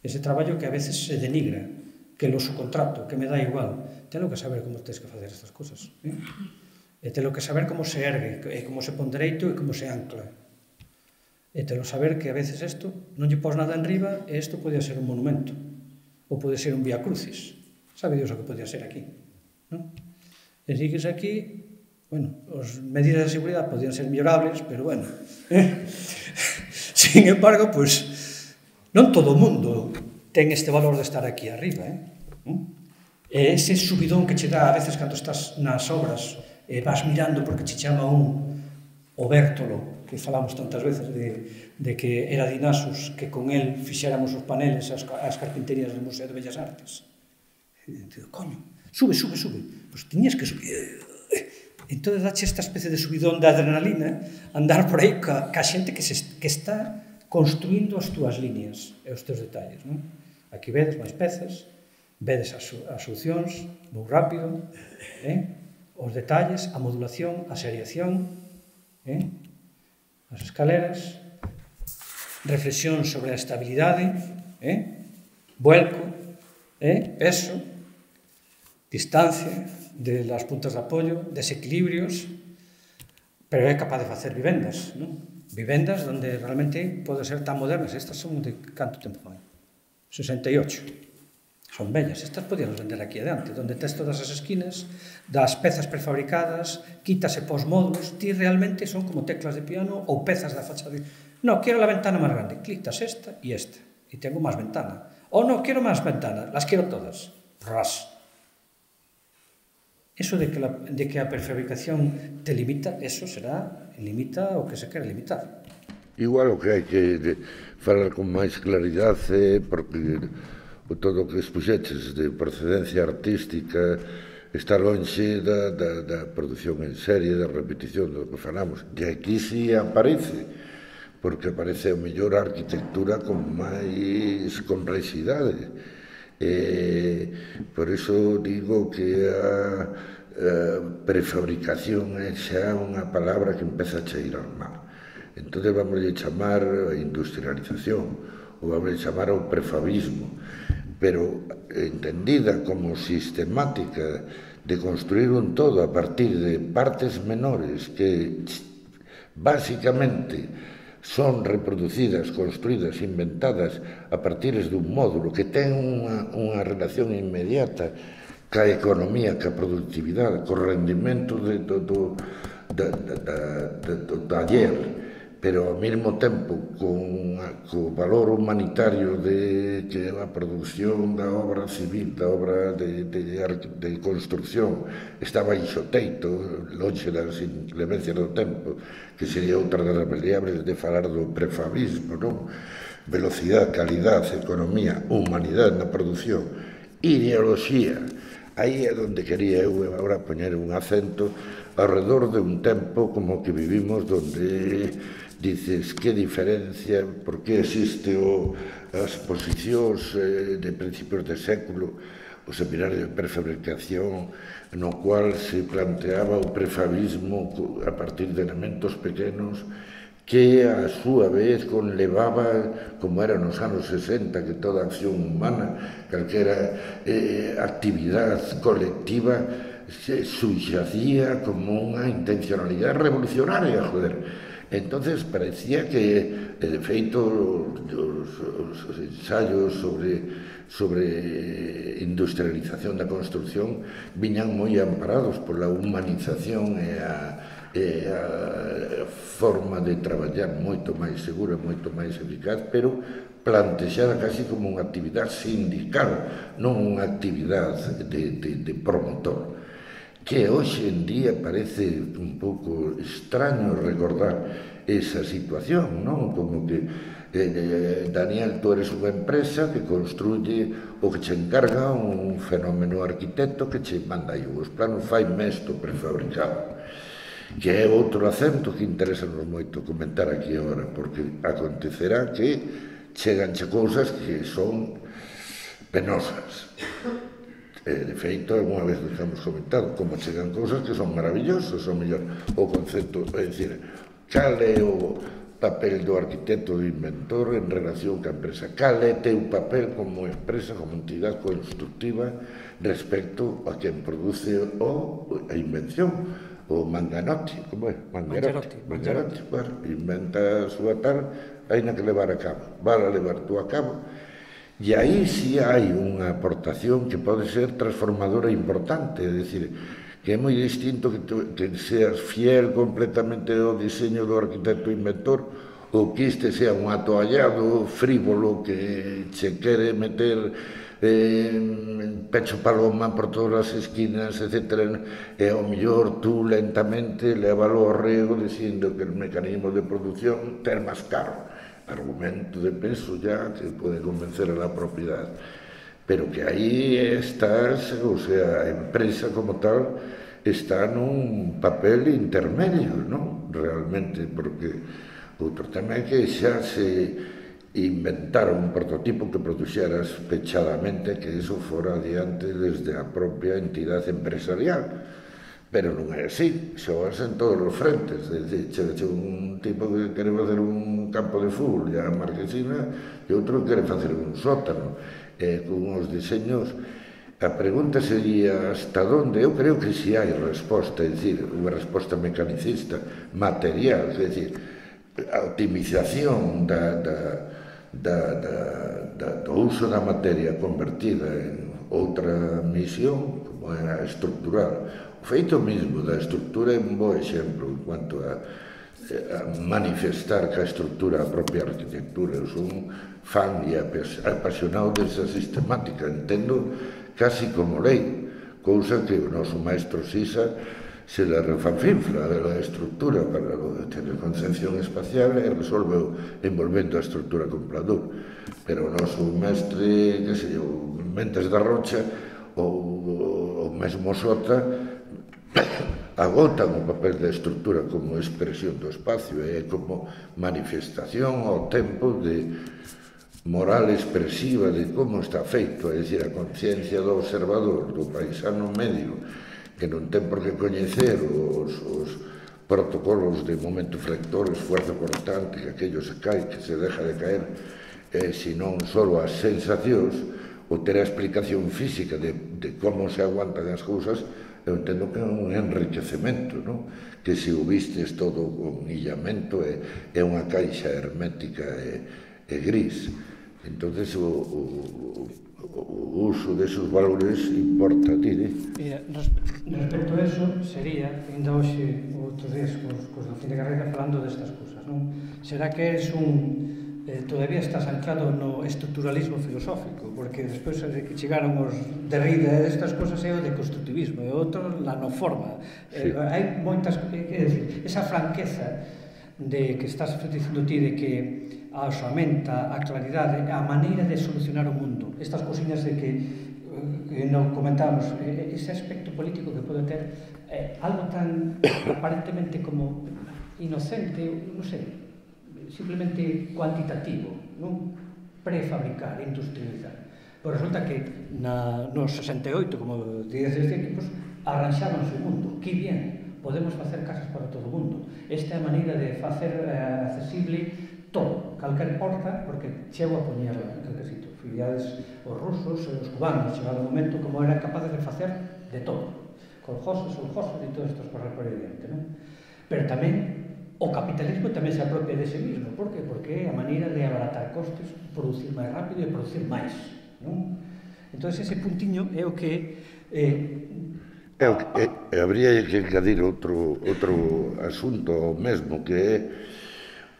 Ese traballo que a veces se denigra, que lo subcontrato, que me dá igual. Telo que saber como tens que facer estas cosas. E telo que saber como se ergue, e como se pon dereito e como se ancla. E telo saber que a veces isto non lle pos nada en riba e isto podía ser un monumento. Ou pode ser un vía crucis. Sabe Dios o que podía ser aquí. E sigues aquí, bueno, as medidas de seguridade podían ser mellorables, pero bueno. Sin embargo, pois, non todo o mundo ten este valor de estar aquí arriba, e ese subidón que che dá a veces cando estás nas obras e vas mirando porque che chama o Bértolo, que falamos tantas veces de que era Dinasus, que con el fixéramos os paneles as carpinterías do Museo de Bellas Artes. E digo, coño, sube. Pois tiñas que subir. Entón, dache esta especie de subidón de adrenalina, andar por aí ca xente que está construindo as túas líneas e os teus detalles, non? Aquí vedes máis pezas, vedes as solucións, moi rápido, os detalles, a modulación, a seriación, as escaleras, reflexión sobre a estabilidade, vuelco, peso, distancia de las puntas de apoio, desequilibrios, pero é capaz de facer vivendas, non? Vivendas onde realmente pode ser tan modernas. Estas son de canto tempo fan? 68. Son bellas. Estas podíamos vender aquí adiante, onde tes todas as esquinas, das pezas prefabricadas, quítase pos módulos, ti realmente son como teclas de piano ou pezas da fachada. No, quero la ventana máis grande. Clictas esta e tengo máis ventana. O no, quero máis ventanas, las quero todas. Ras. Eso de que a prefabricación te limita, eso limita o que se quere limitar. Igual o que hai que falar con máis claridade, porque todo o que expuxeches de procedencia artística está lonxe da produción en serie, da repetición do que falamos. E aquí sí aparece, porque aparece a mellor arquitectura con máis complexidade. Por iso digo que a prefabricación é xa unha palabra que empeza a cheirar mal. Entón vamos a chamar a industrialización ou vamos a chamar ao prefabismo, pero entendida como sistemática de construir un todo a partir de partes menores que básicamente son reproducidas, construídas, inventadas a partir dun módulo que ten unha relación inmediata ca economía, ca productividade, co rendimento do taller, pero ao mesmo tempo co valor humanitario que a produción da obra civil, da obra de construcción está baixo teito, lonxe das inclemencias do tempo, que sería outra das variables de falar do prefabismo, non? Velocidade, calidade, economía, humanidade na produción, ideoloxía. Aí é onde quería eu agora poñer un acento alrededor de un tempo como que vivimos, donde dices que diferencia, por que existe as posicións de principios de século o seminario de prefabricación, no cual se planteaba o prefabismo a partir de elementos pequenos que a súa vez conlevaba, como era nos anos 60, que toda acción humana, calquera actividade colectiva, se subxacía como unha intencionalidade revolucionaria, joder. Entonces parecía que, de feito, os ensaios sobre industrialización da construcción viñan moi amparados pola humanización e a forma de traballar moito máis segura, moito máis eficaz, pero plantexada casi como unha actividade sindical, non unha actividade de promotor, que hoxe en día parece un pouco extraño recordar esa situación, non? Como que, Daniel, tú eres unha empresa que construye o que che encarga un fenómeno arquitecto que che manda aí os planos, fai mesto prefabricado, que é outro acento que interesanos moito comentar aquí agora, porque acontecerá que cheganche cousas que son penosas. De feito, alguna vez nos hemos comentado como chegan cousas que son maravillosas, ou mellor, o concepto, é dicir, cal é o papel do arquitecto, do inventor en relación ca empresa, cal é teu papel como empresa, como entidade constructiva respecto a quen produce a invención, o Manganotti, como é? Mangarotti, bueno, inventa a súa tal, hai na que levar a cabo, vale a levar tú a cabo. E aí sí hai unha aportación que pode ser transformadora importante, é dicir, que é moi distinto que seas fiel completamente ao diseño do arquitecto inventor ou que este sea un atoallado frívolo que che quere meter pecho paloma por todas as esquinas, etc. E ao mellor tú lentamente levalo ao rego dicindo que el mecanismo de produción ten máis caro. Argumento de peso ya que puede convencer a la propiedad, pero que aí estás, o sea, a empresa como tal está nun papel intermedio, non? Realmente, porque outro tema é que xa se inventara un prototipo que produxeras pechadamente, que iso fora adiante desde a propia entidade empresarial. Pero non é así, xogas en todos os frentes, é dicir, che un tipo que quere facer un campo de fútbol e a marquesina e outro que quere facer un sótano con os diseños. A pregunta sería hasta onde? Eu creo que si hai resposta, é dicir, unha resposta mecanicista, material, é dicir, a optimización do uso da materia convertida en outra misión, como é a estructural. O feito mesmo da estructura é un bo exemplo en cuanto a manifestar que a estructura, a propia arquitectura. Eu son un fan e apasionado desa sistemática, entendo casi como lei, cousa que o noso maestro Sisa se la refanfinfla de la estructura para ter concepción espacial e resolveu envolvendo a estructura con pladur. Pero o noso mestre, que sei, o Mentes da Rocha ou o mesmo Sota agotan o papel da estructura como expresión do espacio e como manifestación ao tempo de moral expresiva de como está feito, é dicir, a conciencia do observador, do paisano medio, que non ten por que coñecer os protocolos de momento flector, esfuerzo cortante, que aquello se cae, que se deja de caer, senón só as sensacións, ou ter a explicación física de como se aguantan as cousas. Eu entendo que é un enriquecemento, non? Que se o vistes todo con illamento é unha caixa hermética e gris. Entonces o uso desos valores importa a ti, né? Mira, respecto a eso sería, ainda hoxe outros días cos do fin de carreira falando destas cousas, non? Será que eres todavía estás anclado no estructuralismo filosófico, porque despois de que chegaron os Derrida estas cousas é o de constructivismo e outro la no forma. Sí. Hai moitas, é dicir, esa franqueza de que estás dicindo ti de que a osamenta, a claridade, a maneira de solucionar o mundo, estas cousiñas de que non comentamos, ese aspecto político que pode ter algo tan aparentemente como inocente, non sei, simplemente cuantitativo, non? Prefabricar, industrializar. Pois resulta que nos 68, como dices equipos, arranxábanse o mundo. Que bien, podemos facer casas para todo o mundo. Esta é a maneira de facer accesible todo, calquer porta, porque chego a poñerla en calquer sitio. Filiades os rusos e os cubanos, chegado o momento como eran capaces de facer de todo. Coljoses, soljoses e todas estas cosas por aí diante, non? Pero tamén o capitalismo tamén se apropia dese mismo. Por que? Porque é a maneira de abaratar costes, producir máis rápido e producir máis, non? Entón, ese puntiño é o que... Habría que engadir outro asunto ao mesmo, que é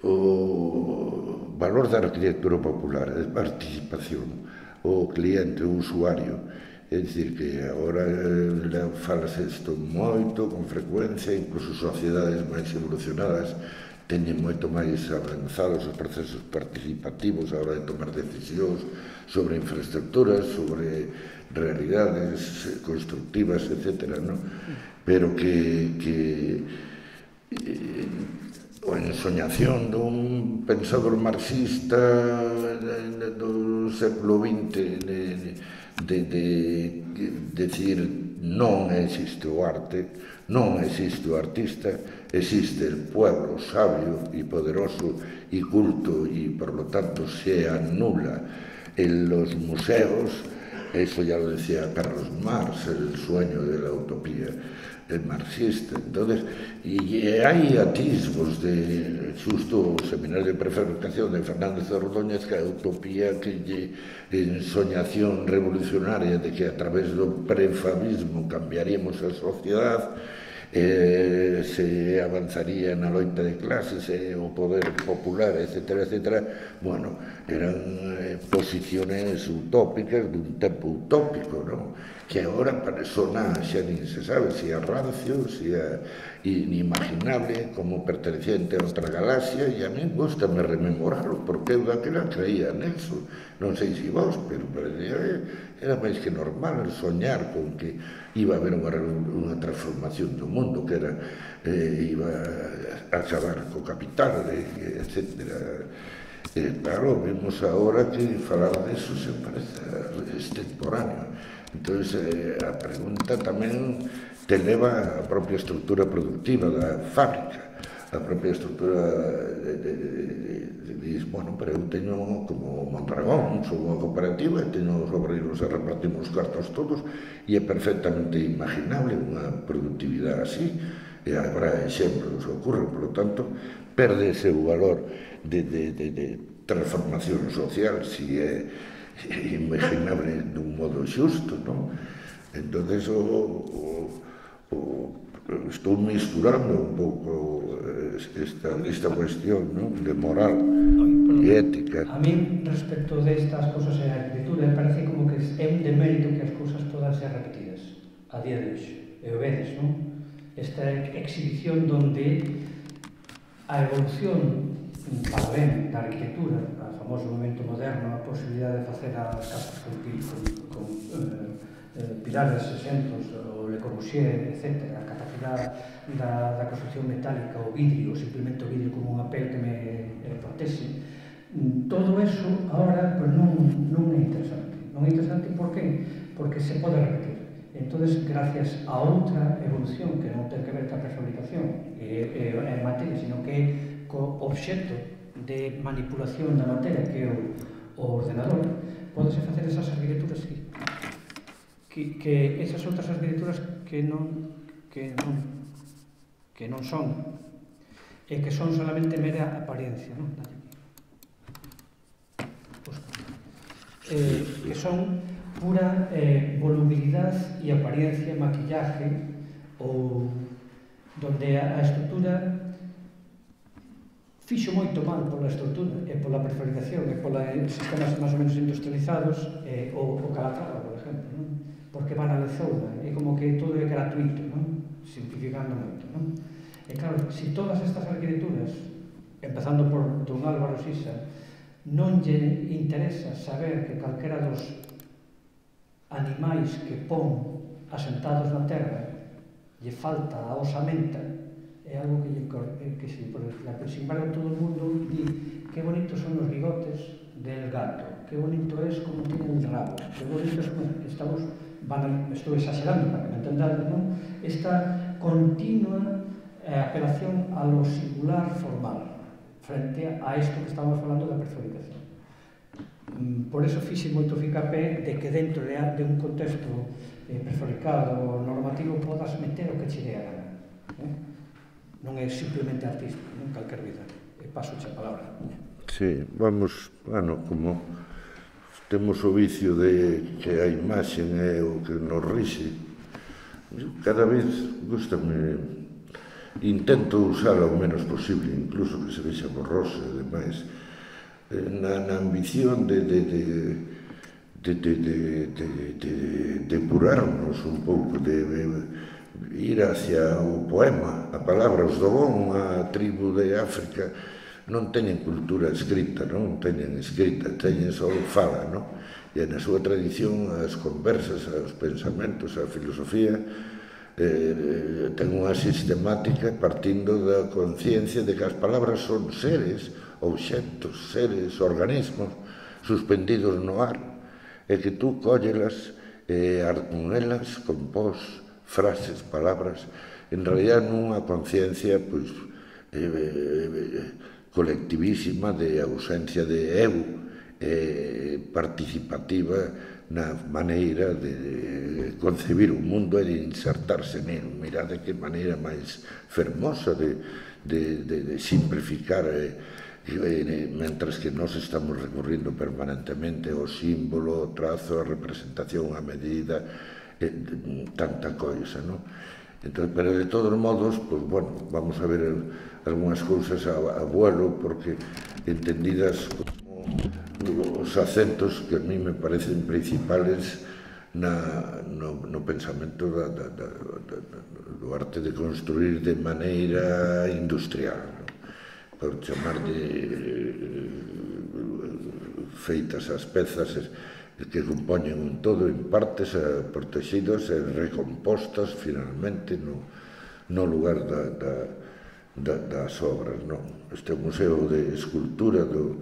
o valor da arquitectura popular, a participación, o cliente, o usuario. É dicir, que agora falase isto moito, con frecuencia, incluso sociedades máis evolucionadas teñen moito máis avanzados os procesos participativos a hora de tomar decisións sobre infraestructuras, sobre realidades constructivas, etc. Pero que a ensoñación dun pensador marxista do século XX de decir non existe o arte, non existe o artista, existe el pueblo sabio y poderoso y culto, y por lo tanto se anula en los museos. Eso ya lo decía Carlos Marx, el sueño de la utopía marxista. Entonces, y hai atisbos de xusto o seminario de prefabricación de Fernández de Ordóñez, que a utopía que en soñación revolucionaria de que a través do prefabismo cambiaríamos a sociedade, se avanzaría na loita de clases, o poder popular, etc., etc. Bueno, eran posiciones utópicas dun tempo utópico, non? Que agora sona, xa nin se sabe se é rancio, se é inimaginable, como perteneciente a outra galaxia, e a mí gustame rememorarlo, porque eu daquela creía neso. Non sei se vos, pero era máis que normal soñar con que iba a haber unha transformación do mundo, que era iba a acabar co capital, etc. Claro, vemos agora que falar deso se parece extemporáneo. Entón, a pregunta tamén te leva a propia estructura productiva da fábrica, a propia estructura diz, bueno, pero eu teño como Mondragón, sou unha cooperativa e teño os obreiros e repartimos os cartos todos, e é perfectamente imaginable unha productividade así, e habrá exemplos que ocorren, por lo tanto, perde ese valor de transformación social, si é imaginable dun modo xusto, non? Entón, estou misturando un pouco esta cuestión, non? De moral e ética. A mí, respecto destas cosas en a arquitectura, parece como que é un demérito que as cousas podan ser repetidas a día de hoxe. E o vedes, non? Esta exhibición donde a evolución para ben da arquitectura, o famoso momento moderno, a posibilidade de facer as casas con pilares exentos, o Le Corbusier, etc., a capacidade da construcción metálica, o vidrio, simplemente o vidrio como unha pel que me protexe. Todo eso agora non é interesante. Non é interesante por qué? Porque se pode repetir. Entón, gracias a outra evolución que non ten que ver ca prefabricación e materia, sino que é co obxecto de manipulación da materia que é o ordenador, podese facer esas arquitecturas que esas outras arquitecturas que non son e que son solamente mera apariencia, non? Que son pura volubilidade e apariencia, maquillaje, ou donde a estructura fixo moito mal pola estructura e pola prefabricación e pola sistemas máis ou menos industrializados, o Calatrava, por exemplo, non? Porque van a lezoura, é como que todo é gratuito, non? Simplificando moito, non? E claro, se todas estas arquitecturas, empezando por don Álvaro Sisa, non lle interesa saber que calquera dos animais que pon asentados na terra lle falta a osamenta, é algo que sin embargo todo o mundo di que bonitos son os bigotes del gato, que bonito es como tiene el rabo, que bonito es como estamos, estou exagerando para que me entendades, non? Esta continua apelación a lo singular formal frente a isto que estamos falando da prefabricación. Por eso fixe moito ficape de que dentro de un contexto prefabricado normativo podas meter o que che dé a gana. Non é simplemente artista, non calquer vida. Paso a palabra. Sí, vamos, bueno, como temos o vicio de que a imaxe é o que nos rixe, cada vez gustame, intento usala o menos posible, incluso que se vexa borrosa e demais, na ambición de depurarnos un pouco, de ir hacia o poema, a palabra. Os Dogon, a tribu de África, non teñen cultura escrita, non teñen escrita, teñen só fala, non? E na súa tradición as conversas, os pensamentos, a filosofía ten unha sistemática partindo da conciencia de que as palabras son seres, obxectos, seres, organismos suspendidos no ar, e que tú cóllelas e con elas compós frases, palabras, en realidad nunha conciencia pois colectivísima de ausencia de eu, participativa na maneira de concebir o mundo e de insertarse nel. Mirade que maneira máis fermosa de simplificar, mentras que nós estamos recurrindo permanentemente ao símbolo, ao trazo, á representación, á medida, tanta coisa, non? Entón, pero de todos modos, pues, bueno, vamos a ver algunhas cousas a vuelo, porque entendidas como os acentos que a mí me parecen principales no pensamento do arte de construir de maneira industrial, por chamar de feitas as pezas que compoñen un todo en partes protegidas e recompostas finalmente no lugar das obras. Este museo de escultura do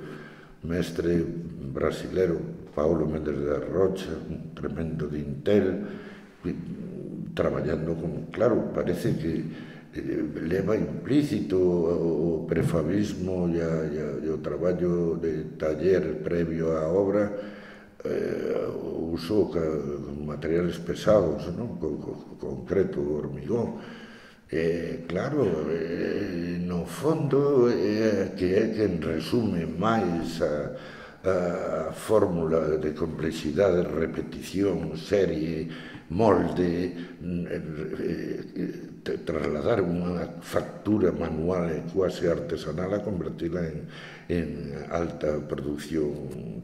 mestre brasilero Paulo Mendes da Rocha, un tremendo dintel, traballando con, claro, parece que leva implícito o prefabismo e o traballo de taller previo á obra, usou materiales pesados, concreto, hormigón. Claro, no fondo que é quen resume máis a fórmula de complexidade, repetición, serie, molde, trasladar unha factura manual e quase artesanal a convertila en alta producción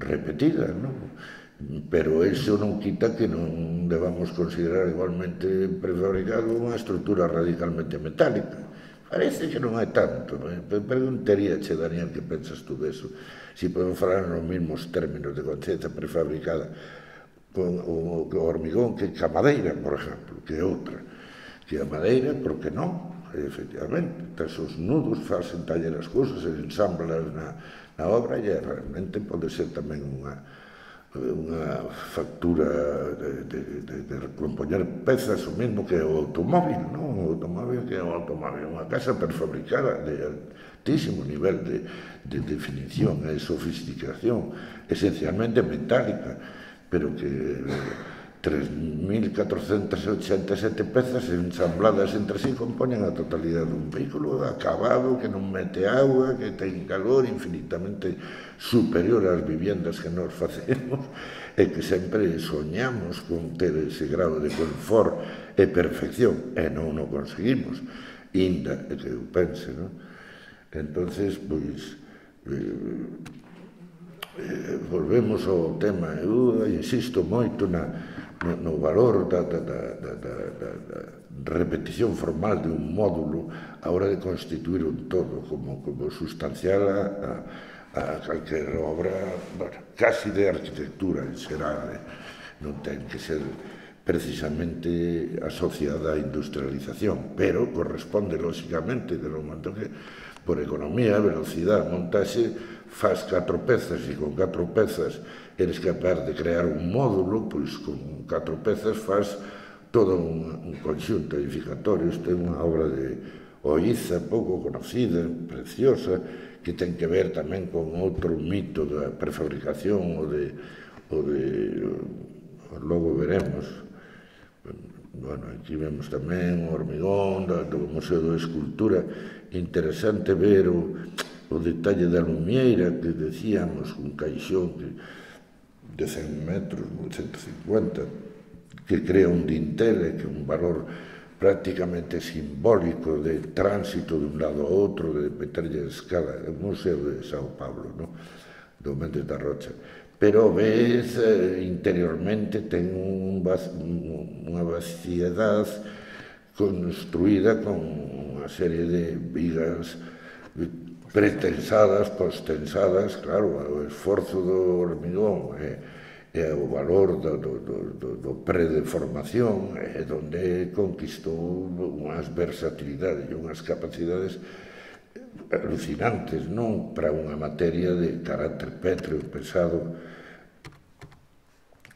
repetida, non? Pero iso non quita que non debamos considerar igualmente prefabricado unha estrutura radicalmente metálica. Parece que non é tanto. Preguntaríache, Daniel, que pensas tú deso? Si podemos falar nos mesmos términos de conciencia prefabricada con o hormigón que a madeira, por exemplo, que é outra. Que a madeira, por que non? Efectivamente, esos nudos facen taller as cousas e ensamblas na obra, e realmente pode ser tamén unha factura de recompoñer pezas, o mesmo que o automóvil, non? O automóvil que é un automóvil, unha casa prefabricada de altísimo nivel de definición e sofisticación, esencialmente metálica, pero que 3.487 pezas ensambladas entre sí compoñen a totalidade dun vehículo acabado, que non mete agua, que ten calor infinitamente superior ás viviendas que nós facemos e que sempre soñamos con ter ese grado de confort e perfección, e non o conseguimos, inda que eu pense, non? Entonces, pois, volvemos ao tema. Eu insisto moito no valor da repetición formal de un módulo a hora de constituir un todo como sustancial a calquer obra, casi de arquitectura en xeral. Non ten que ser precisamente asociada á industrialización, pero corresponde lógicamente, de lo momento que por economía, velocidade, montaxe, faz 4 pezas e con 4 pezas eres capaz de crear un módulo, pois con 4 pezas faz todo un conxunto edificatorio. Isto é unha obra de Oiza, pouco conocida, preciosa, que ten que ver tamén con outro mito da prefabricación logo veremos. Bueno, aquí vemos tamén o hormigón do Museo de Escultura. Interesante ver o detalle da lumieira que decíamos, un caixón de 100 metros, 150, que crea un dintel, que é un valor prácticamente simbólico de tránsito de un lado a outro, de meterlle a escala. É o Museo de Sao Paulo, do Méndez da Rocha. Pero ves, interiormente ten unha vaciedade construída con unha serie de vigas pretensadas, postensadas, claro, o esforzo do hormigón e o valor do predeformación é onde conquistou unhas versatilidades e unhas capacidades alucinantes, non para unha materia de carácter pétreo, pesado.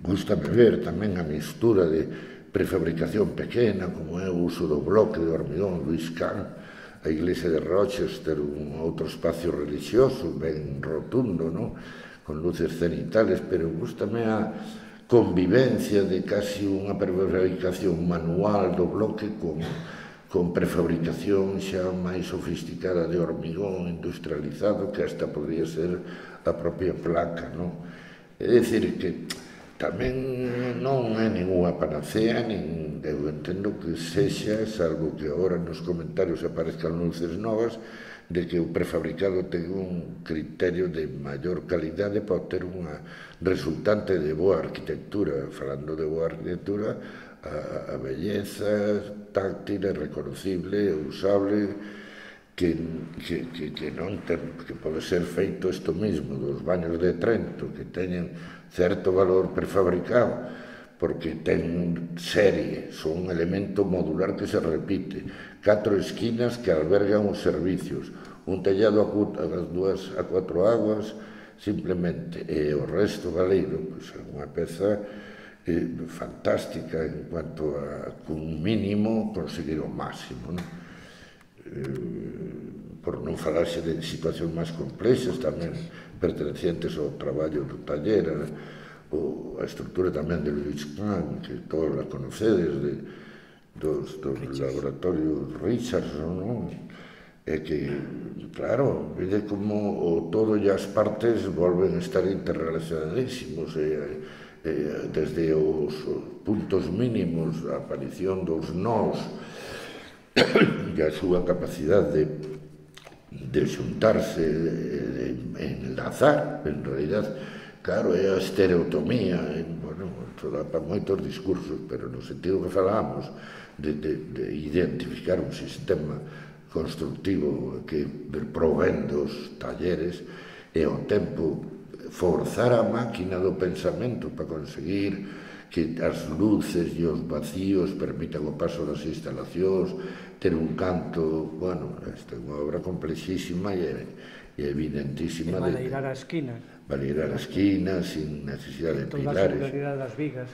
Gústame ver tamén a mistura de prefabricación pequena, como é o uso do bloque de hormigón. Luis Kahn, a iglesia de Rochester, un outro espacio religioso ben rotundo, con luces cenitales, pero gústame a convivencia de casi unha prefabricación manual do bloque con prefabricación xa máis sofisticada de hormigón industrializado, que hasta podría ser a propia placa, É dicir, que tamén non é ninguna panacea, nin eu entendo que sexa, salvo que agora nos comentarios aparezcan luces novas, de que o prefabricado ten un criterio de maior calidade para ter unha resultante de boa arquitectura. Falando de boa arquitectura, a belleza táctil e reconocible e usable que pode ser feito isto mesmo dos baños de Trento, que teñen certo valor prefabricado porque ten serie, son un elemento modular que se repite, 4 esquinas que albergan os servicios, un tellado a 4 aguas simplemente, e o resto galeiro, pois é unha peza fantástica en cuanto a, con un mínimo, conseguir o máximo, por non falarse de situacións máis complexas tamén pertenecientes ao traballo do taller, a estrutura tamén de Luis Kahn, que todos la conocedes, dos laboratorios Richardson, é que, claro, vede como o todo e as partes volven a estar interrelacionadísimos, desde os puntos mínimos, a aparición dos nós e a súa capacidade de xuntarse, de enlazar, en realidad, claro, é a estereotomía, bueno, dá para moitos discursos, pero no sentido que falábamos de identificar un sistema constructivo que provén dos talleres e ao tempo forzar a máquina do pensamento para conseguir que as luces e os vacíos permitan o paso das instalacións, ter un canto, bueno, esta é unha obra complexísima e evidentísima. E baleirar a esquina. Baleirar a esquina, sin necesidade de pilares. Toda a singularidade das vigas.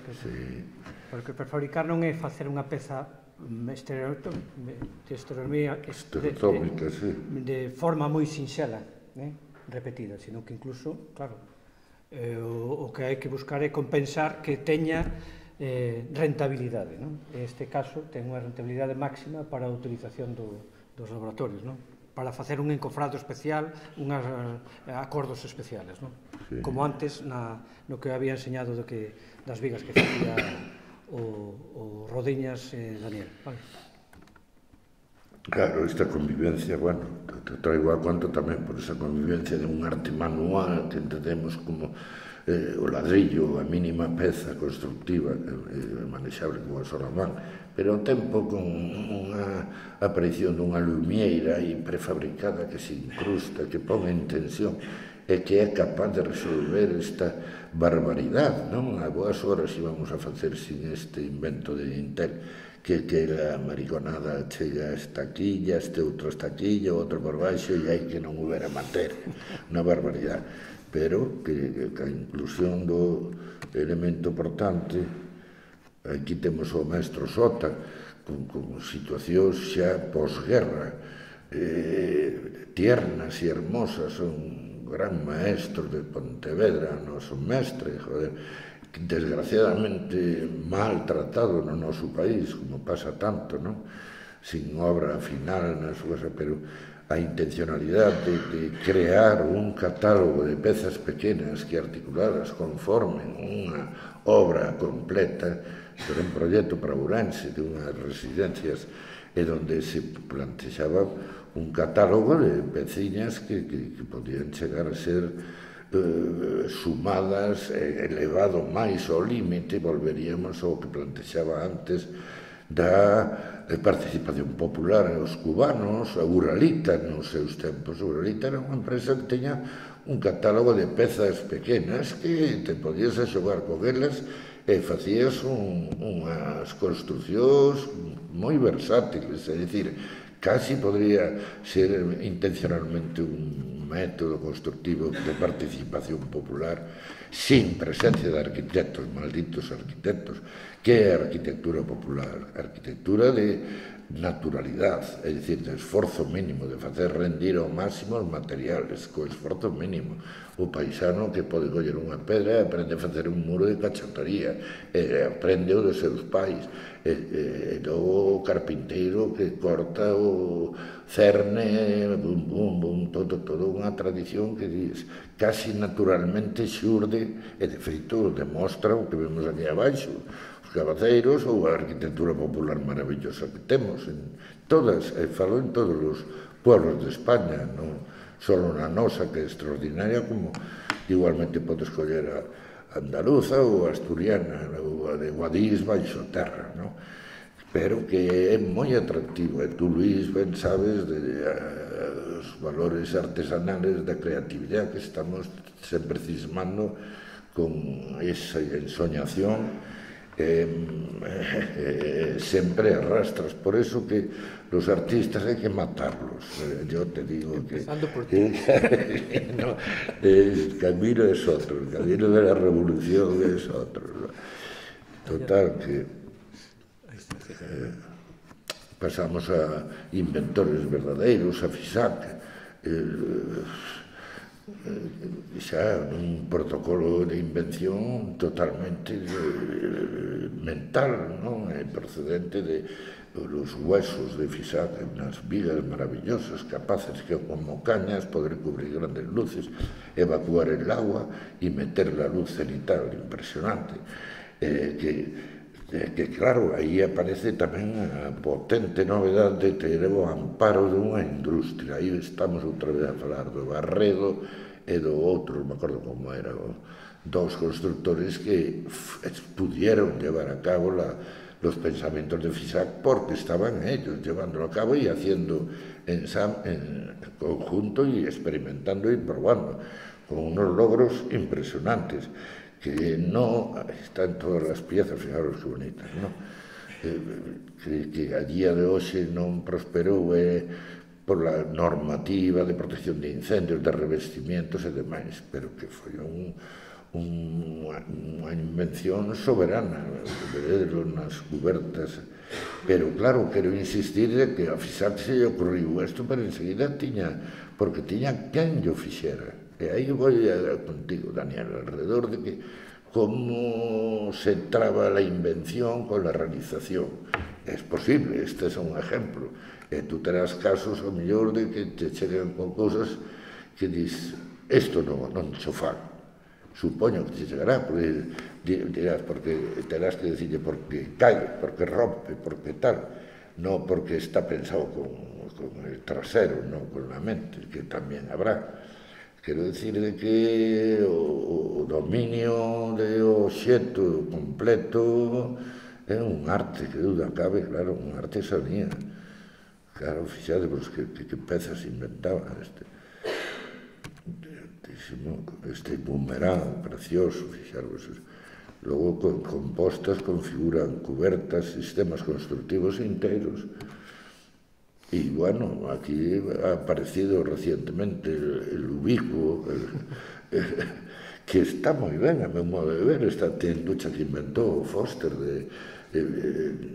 Porque prefabricar non é facer unha peza de forma moi sinxela, repetida, sino que incluso, claro, o que hai que buscar é compensar que teña rentabilidade. En este caso, ten unha rentabilidade máxima para a utilización dos laboratorios, para facer un encofrado especial, unhas acordos especiales, como antes no que había enseñado das vigas que facía o Rodiñas Daniel. Claro, esta convivencia, bueno, te traigo a conto tamén por esa convivencia de un arte manual que entendemos como o ladrillo, a mínima peza constructiva manexable con a sola man, pero ao tempo con unha aparición dunha lumieira aí prefabricada que se incrusta, que pon en tensión, e que é capaz de resolver esta barbaridade, non? A boas horas íbamos a facer sin este invento de Intel, que a mariconada chega a esta quilla, este outro esta quilla, outro por baixo, e hai que non houbera materia, unha barbaridade. Pero que a inclusión do elemento portante, aquí temos o maestro Sota, con situacións xa posguerra, tiernas e hermosas, un gran maestro de Pontevedra, noso mestre, joder, desgraciadamente maltratado no noso país, como pasa tanto, non? Sin obra final nas súas, pero a intencionalidade de crear un catálogo de pezas pequenas que articuladas conformen unha obra completa, era un proxecto para Ourense de unhas residencias e onde se plantexaba un catálogo de peciñas que podían chegar a ser sumadas, elevado máis ao límite, volveríamos ao que plantexaba antes da participación popular os cubanos, a Uralita nos seus tempos. A Uralita era unha empresa que teña un catálogo de pezas pequenas que te podías a xogar con elas e facías unhas construcións moi versátiles, é dicir, casi podría ser intencionalmente un método constructivo de participación popular sin presencia de arquitectos, malditos arquitectos. Que é a arquitectura popular? A arquitectura de naturalidade, é dicir, de esforzo mínimo, de facer rendir ao máximo os materiales, co esforzo mínimo. O paisano que pode coller unha pedra e aprende a facer un muro de cachantaría, e aprende o dos seus pais, e logo o carpinteiro que corta o cerne, bum, bum, bum, todo unha tradición que diz, casi naturalmente xurde, e de feito demostra o que vemos aquí abaixo, os cabaceiros ou a arquitectura popular maravillosa que temos en todas, e falo en todos os pueblos de España, non só na nosa, que é extraordinaria, como igualmente podes escoller a andaluza ou a asturiana ou a de Guadix baixo terra, non? Pero que é moi atractivo, e tú, Luís, ben sabes os valores artesanales da creatividade que estamos sempre cismando con esa ensoñación sempre arrastras. Por eso que los artistas hay que matarlos. Yo te digo empezando que... por ti. No, el camino es otro, el camino de la revolución es otro, ¿no? Total, que pasamos a inventores verdadeiros, a Fisac, xa un protocolo de invención totalmente mental, non? Procedente de los huesos de Fisac, unas vigas maravillosas, capaces que como cañas poder cubrir grandes luces, evacuar el agua y meter la luz cenital, impresionante, que claro, aí aparece tamén a potente novedade de ter o amparo dunha industria. Aí estamos outra vez a falar do Barredo e do outro, non me acordo como era, dos constructores que pudieron llevar a cabo los pensamientos de Fisac porque estaban ellos llevándolo a cabo y haciendo en conjunto y experimentando y probando con unos logros impresionantes que no están todas las piezas, fijaros que bonitas, ¿no? Que a día de hoxe non prosperou por la normativa de protección de incendios, de revestimientos e demais, pero que foi unha invención soberana, nas cubertas. Pero claro, quero insistir de que a Fisac se lle ocurriu isto, pero enseguida porque tiña quen lle fixera. E aí vou contigo, Daniel, alrededor de que como se traba la invención con la realización. Es posible, este é un ejemplo. E tú terás casos, ao mellor, de que te chegan con cousas que dis, isto non xo fago. Supoño que te chegará, porque dirás, porque terás que decirle porque cae, porque rompe, porque tal. Non porque está pensado con el trasero, non con la mente, que tamén habrá. Quero dicir de que o dominio de obxecto completo é un arte, que duda cabe, claro, unha artesanía. Claro, fixadevos que pezas inventaban moitísimo. Este boomerang precioso, fixarvos. Logo, compostas configuran cubertas, sistemas constructivos inteiros. E, bueno, aquí ha aparecido recientemente el ubicuo, que está moi ben, a meu modo de ver, esta tenducha que inventou Foster de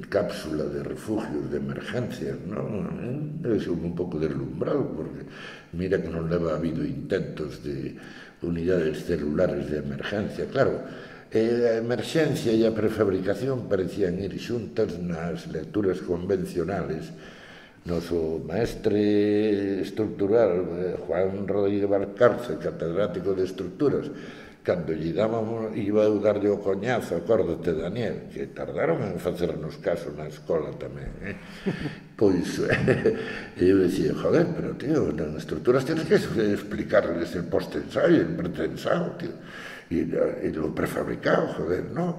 cápsula de refugios de emergencias, non? É un pouco deslumbrado, porque mira que non leva habido intentos de unidades celulares de emergencia. Claro, a emerxencia e a prefabricación parecían ir xuntas nas lecturas convencionales. Noso maestre estructural, Juan Rodríguez Valcárcel, catedrático de estructuras, cando lle dábamos, iba a darlle o coñazo, acórdate, Daniel, que tardaron en facernos caso na escola tamén, pois, eu dicía, joder, pero, tío, nas estructuras tienes que explicarles el post-ensayo, el pretensado, tío, e lo prefabricado, joder, no,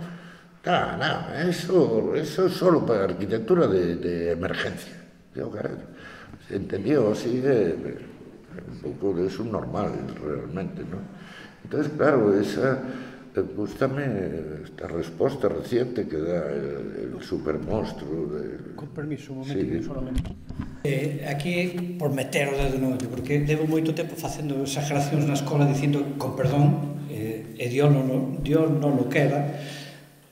eso es solo para arquitectura de emergencia. Yo, caray, se entendió así, un pouco de subnormal, realmente, ¿no? Entonces, claro, gústame esta resposta reciente que dá el supermonstruo. Con permiso, un momentito, solamente. Aquí, por meter o dedo no ollo, porque levo moito tempo facendo exageracións na escola dicindo, con perdón, e Dios non lo queda,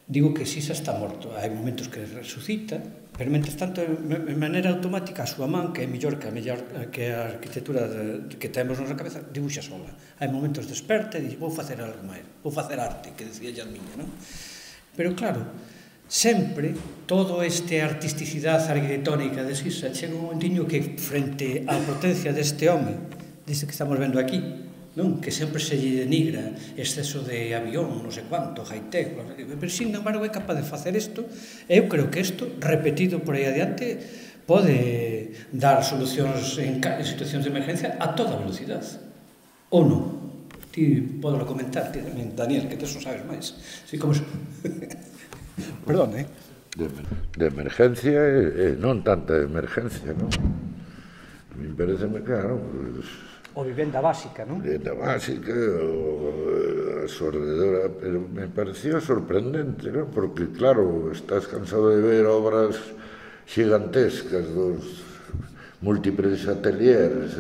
digo que Sisa está morto. Hai momentos que resucita, pero mentres tanto, de maneira automática, a súa man, que é mellor que a arquitectura que temos na cabeza, dibuxa sola. Hai momentos desperta e dixe, vou facer algo máis, vou facer arte, que decía Yalmiña, non? Pero claro, sempre, todo este artisticidade arquitectónica de Sisa chega un momentiño que, frente á potencia deste home, deste que estamos vendo aquí, non? Que sempre se lle denigra exceso de avión, non sei cuánto, high-tech, pero sin embargo é capaz de facer isto. Eu creo que isto, repetido por aí adiante, pode dar solucións en situacións de emergencia a toda velocidade. Ou non? Ti podelo comentar, ti tamén, Daniel, que tes non sabes máis. Así como... Perdón, De emergencia e non tanta emergencia, non? A mí pareceme claro, O vivenda básica, non? Vivenda básica, a sordedora, pero me pareció sorprendente, non? Porque, claro, estás cansado de ver obras gigantescas dos múltiples ateliers,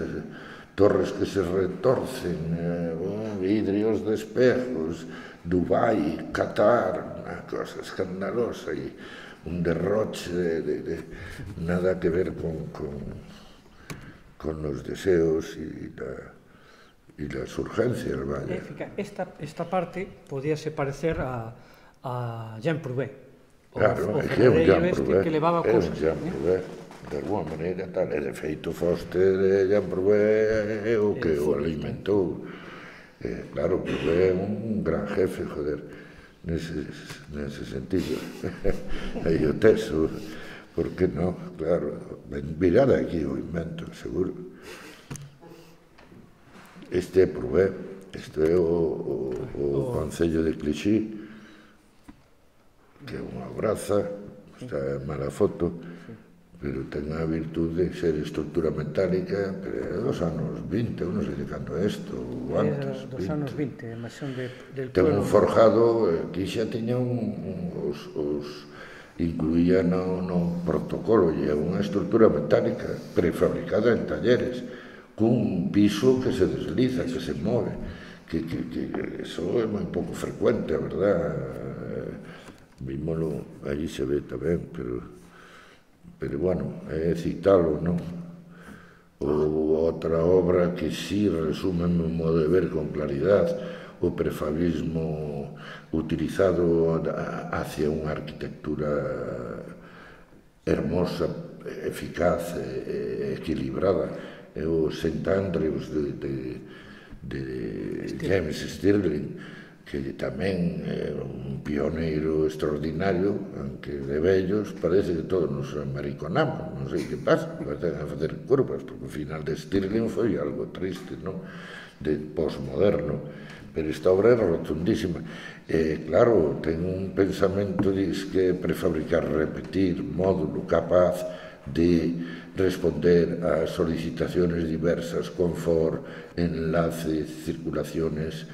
torres que se retorcen, vidrios de espejos, Dubái, Qatar, unha cosa escandalosa e un derroche de nada que ver con los deseos y las urgencias, vaya. Esta parte podíase parecer a Jean Prouvé. Claro, é que é un Jean Prouvé. Que levaba cousas. É un Jean Prouvé, de alguma maneira, tal. E de feito, Foster, Jean Prouvé é o que o alimentou. Claro, Prouvé é un gran jefe, joder, nese sentido. Aí o teso. Por que non? Claro, virada aquí o invento, seguro. Este é Prouvé, este é o Concello de Clichy, que é unha braza, está mala foto, pero ten a virtude de ser estructura metálica, pero é dos anos 20, non sei de cando é isto, ou antes. Dos anos 20, a mansión del ten pueblo. un forjado, que xa tiña incluía no protocolo e é unha estructura metálica prefabricada en talleres cun piso que se desliza, que se move, que eso é moi pouco frecuente, a verdad. Vímolo, aí se ve tamén, pero bueno, é citalo, non? Ou outra obra que sí resume o meu modo de ver con claridade, o prefabismo utilizado hacia unha arquitectura hermosa, eficaz e equilibrada. É o St. Andrews de James Stirling, que tamén é un pioneiro extraordinario, aunque de vellos parece que todos nos amariconamos, non sei que pasa, parece a facer curvas, porque o final de Stirling foi algo triste, non? De postmoderno. Pero esta obra é rotundísima. Claro, ten un pensamento, diz que prefabricar, repetir, módulo capaz de responder a solicitaciones diversas, confort, enlace, circulaciones,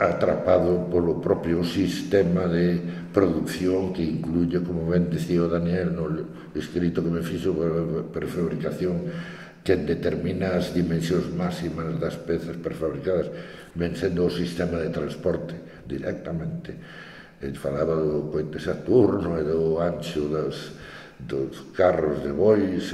atrapado polo propio sistema de producción que incluye, como ben decía o Daniel no escrito que me fixo, prefabricación, que determina as dimensións máximas das pezas prefabricadas, ven sendo o sistema de transporte directamente. Falaba do coite Saturno e do ancho dos carros de bois,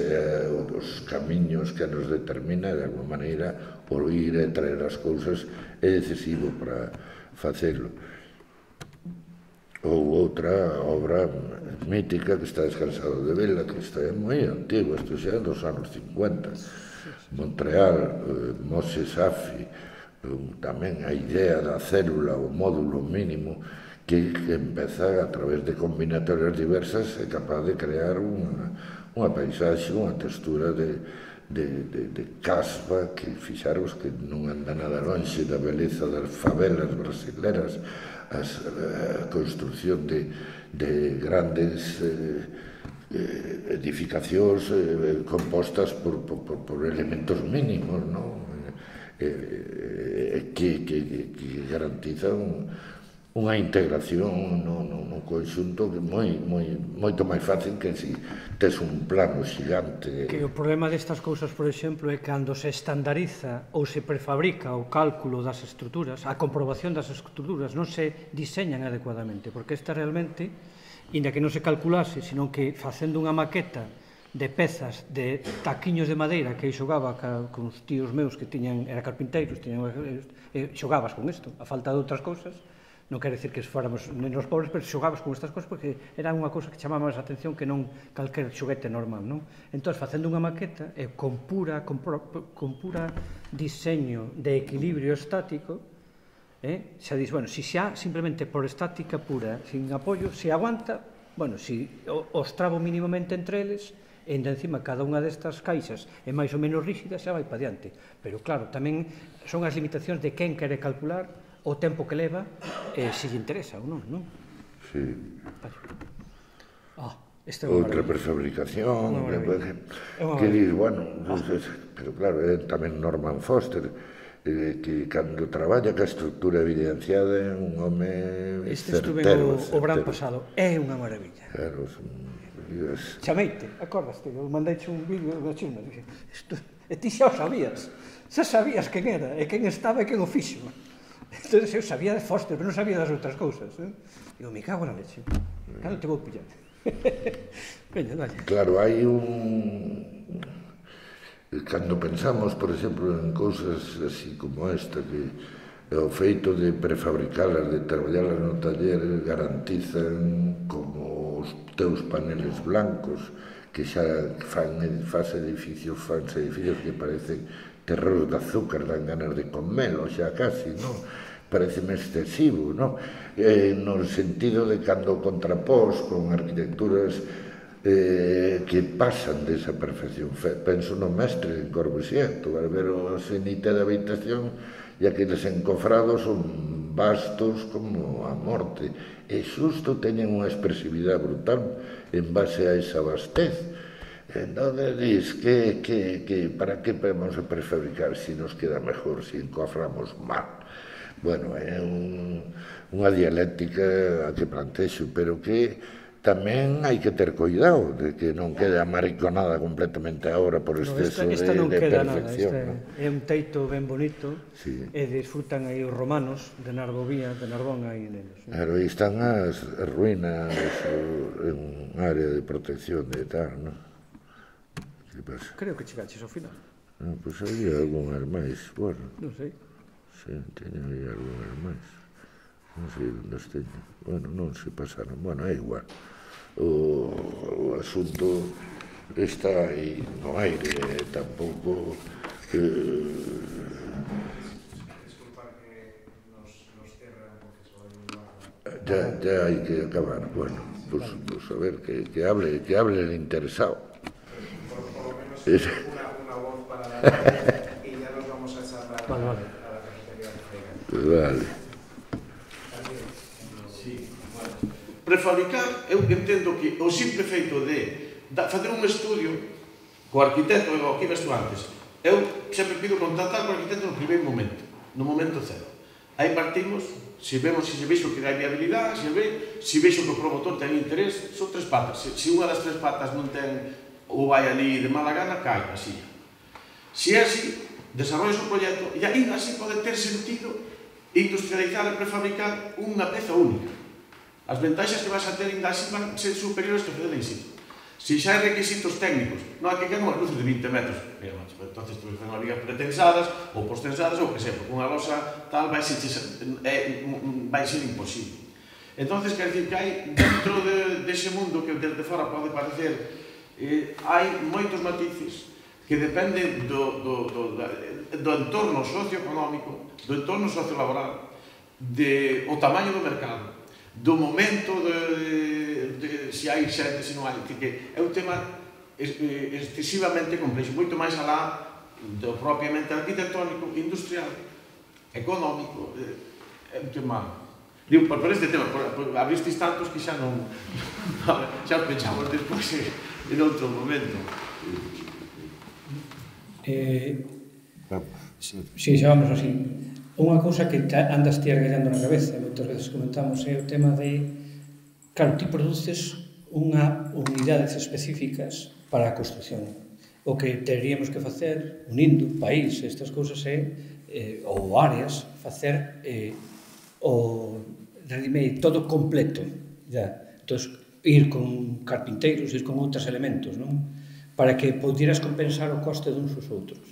ou dos camiños que nos determina, de alguma maneira, o ir e traer as cousas é decisivo para facelo. Ou outra obra mítica que está descansado de vela, que está moi antigo, isto xa é dos anos 50, Montreal, Moses Safi, tamén a idea da célula, o módulo mínimo, que empeza a través de combinatorias diversas é capaz de crear unha paisaxe, unha textura de caspa que fixaros que non anda nada lonxe da beleza das favelas brasileras, a construción de grandes edificacións compostas por elementos mínimos, que garantizan unha integración no conxunto que moito máis fácil que se tes un plano xigante. Que o problema destas cousas, por exemplo, é cando se estandariza ou se prefabrica o cálculo das estruturas, a comprobación das estruturas non se diseñan adecuadamente, porque esta realmente, inda que non se calculase, sino que facendo unha maqueta de pezas de taquiños de madeira que xogaba con os tíos meus que tiñan, era carpinteiros, xogabas con isto, a falta de outras cousas. Non quero dicir que fóramos menos pobres, pero xogabas con estas cosas porque era unha cousa que chamaba máis a atención que non calquer xoguete normal, non? Entón, facendo unha maqueta con pura diseño de equilibrio estático, xa dis, bueno, se xa simplemente por estática pura, sin apoio, se aguanta, bueno, se os trabo mínimamente entre eles, e encima cada unha destas caixas é máis ou menos rígida, xa vai para diante. Pero claro, tamén son as limitacións de quen quere calcular o tempo que leva, se lle interesa ou non, non? Sí. Outra prefabricación, que dis, bueno, pero claro, tamén Norman Foster, que cando traballa que a estructura evidenciada é un home certero. Estuve o verán pasado, é unha maravilla. Claro, Chameite, acordaste, eu mandeiche un vídeo da China, e ti xa o sabías, quen era, e quen estaba e quen o fixo. Entón, eu sabía de Foster, pero non sabía das outras cousas. Digo, me cago na leche. Claro, te vou pillar. Veña, dale. Claro, hai un... Cando pensamos, por exemplo, en cousas así como esta, que o feito de prefabricalas, de traballalas no taller, garantizan como os teus paneles blancos, que xa fan edificios que parecen terreros de azúcar, dan ganas de comelo xa casi, non? Pareceme excesivo, non? No sentido de cando contrapós con arquitecturas que pasan desa perfección. Penso no mestre en Corbusier, tu vas ver o cenite da habitación e aqueles encofrados son vastos como a morte, e xusto teñen unha expresividade brutal en base a esa vastez. Entón, dis que para que podemos prefabricar se nos queda mejor, se encoframos mal. Bueno, é unha dialéctica a que plantexo, pero que tamén hai que ter cuidado de que non quede amariconada completamente a obra por exceso de perfección. É un teito ben bonito, e disfrutan aí os romanos de Narbón aí neles. Claro, aí están as ruínas en área de protección de tal, non? Creo que chegaches ao final. Pois había algunhas máis, bueno. Non sei. Sí, teñen aí algunhas máis. Non sei onde as teñen. Bueno, non se pasaron. Bueno, é igual. O asunto está aí no aire, tampouco... Disculpa que nos cierran porque só hai un... Ya hai que acabar. Bueno, pues a ver, que hable el interesado. Una voz para la y ya nos vamos a charlar a la cafetería de Freiga. Vale. Sí, bueno. Prefabricar, eu entendo que o simple feito de facer un estudio co arquitecto, o que ibas tú antes. Eu sempre pido contactar co arquitecto no primeiro momento, no momento cero. Aí partimos, se vexo que hai viabilidade, se vexo que o promotor ten interés, son tres patas. Se unha das tres patas non ten ou vai ali de mala gana, cai a silla. Se é así, desarrollas o proxecto e aí así pode ter sentido industrializar e prefabricar unha peza única. As ventaxas que vas a ter ainda así van ser superiores que fazer en sí. Se xa hai requisitos técnicos, non hai que quedar unhas luces de 20 metros, entonces tu facer unhas vigas pretensadas ou postensadas ou que sea, porque unha losa tal vai ser imposible. Entonces, quer dizer que hai dentro dese mundo que desde fora pode parecer, hai moitos matices que dependen do entorno socioeconómico, do entorno sociolaboral, do tamaño do mercado, do momento de se hai xente, se non hai, que é un tema excesivamente complexo, moito máis alá do propiamente arquitectónico, industrial, económico, é un tema. Digo, por este tema, abristes tantos que xa non... xa os pechamos despois en outro momento. Si, xa vamos así. Unha cousa que andas ti argallando na cabeza, moitas veces comentamos, é o tema de, claro, ti produces unidades específicas para a construcción. O que teríamos que facer, unindo país, estas cousas ou áreas, facer o ready-made todo completo. Entón, ir con carpinteiros, ir con outros elementos, para que pudieras compensar o coste duns os outros.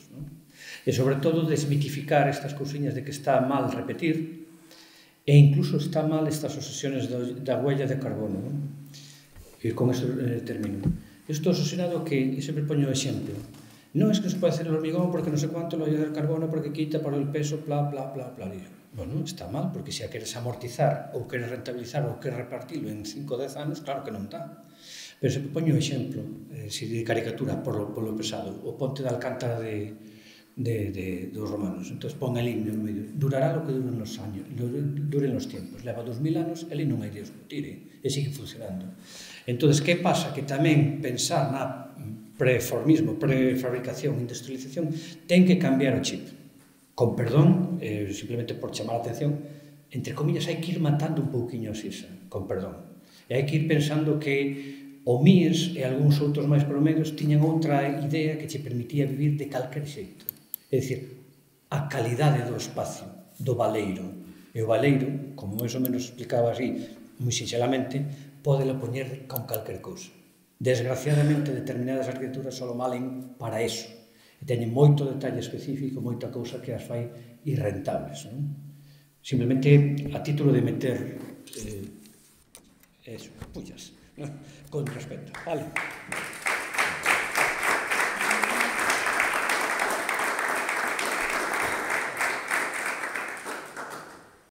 E, sobre todo, desmitificar estas cousiñas de que está mal repetir e incluso está mal estas obsesiones da huella de carbono. E con isto termino. Estou obsesionado que, e sempre poño o exemplo, non é que se pode hacer el hormigón porque non sei cuánto la huella de carbono porque quita por el peso, bla, bla, bla, bla. Bueno, está mal, porque se a queres amortizar ou queres rentabilizar ou queres repartirlo en 5 ou 10 anos, claro que non dá. Pero sempre poño o exemplo, de caricatura, polo pesado, o ponte de Alcántara dos romanos. Entón, pon el himno no medio. Durará lo que duren los años, duren los tiempos. Leva 2000 anos, el non hai Dios que o tire, e sigue funcionando. Entón, que pasa? Que tamén pensar na preformismo, prefabricación, industrialización, ten que cambiar o chip. Con perdón, simplemente por chamar a atención, entre comillas, hai que ir matando un pouquiño a Sisa, con perdón. E hai que ir pensando que o MIES e algúns outros máis promedios tiñan outra idea que che permitía vivir de calquer xeito. É dicir, a calidade do espacio, do baleiro. E o baleiro, como máis ou menos explicaba así, moi sinxelamente, pódelo poñer con calquer cousa. Desgraciadamente, determinadas arquitecturas só valen para eso. E teñen moito detalle específico, moita cousa que as fai irrentables. Simplemente a título de meter pullas, con respeto. Vale.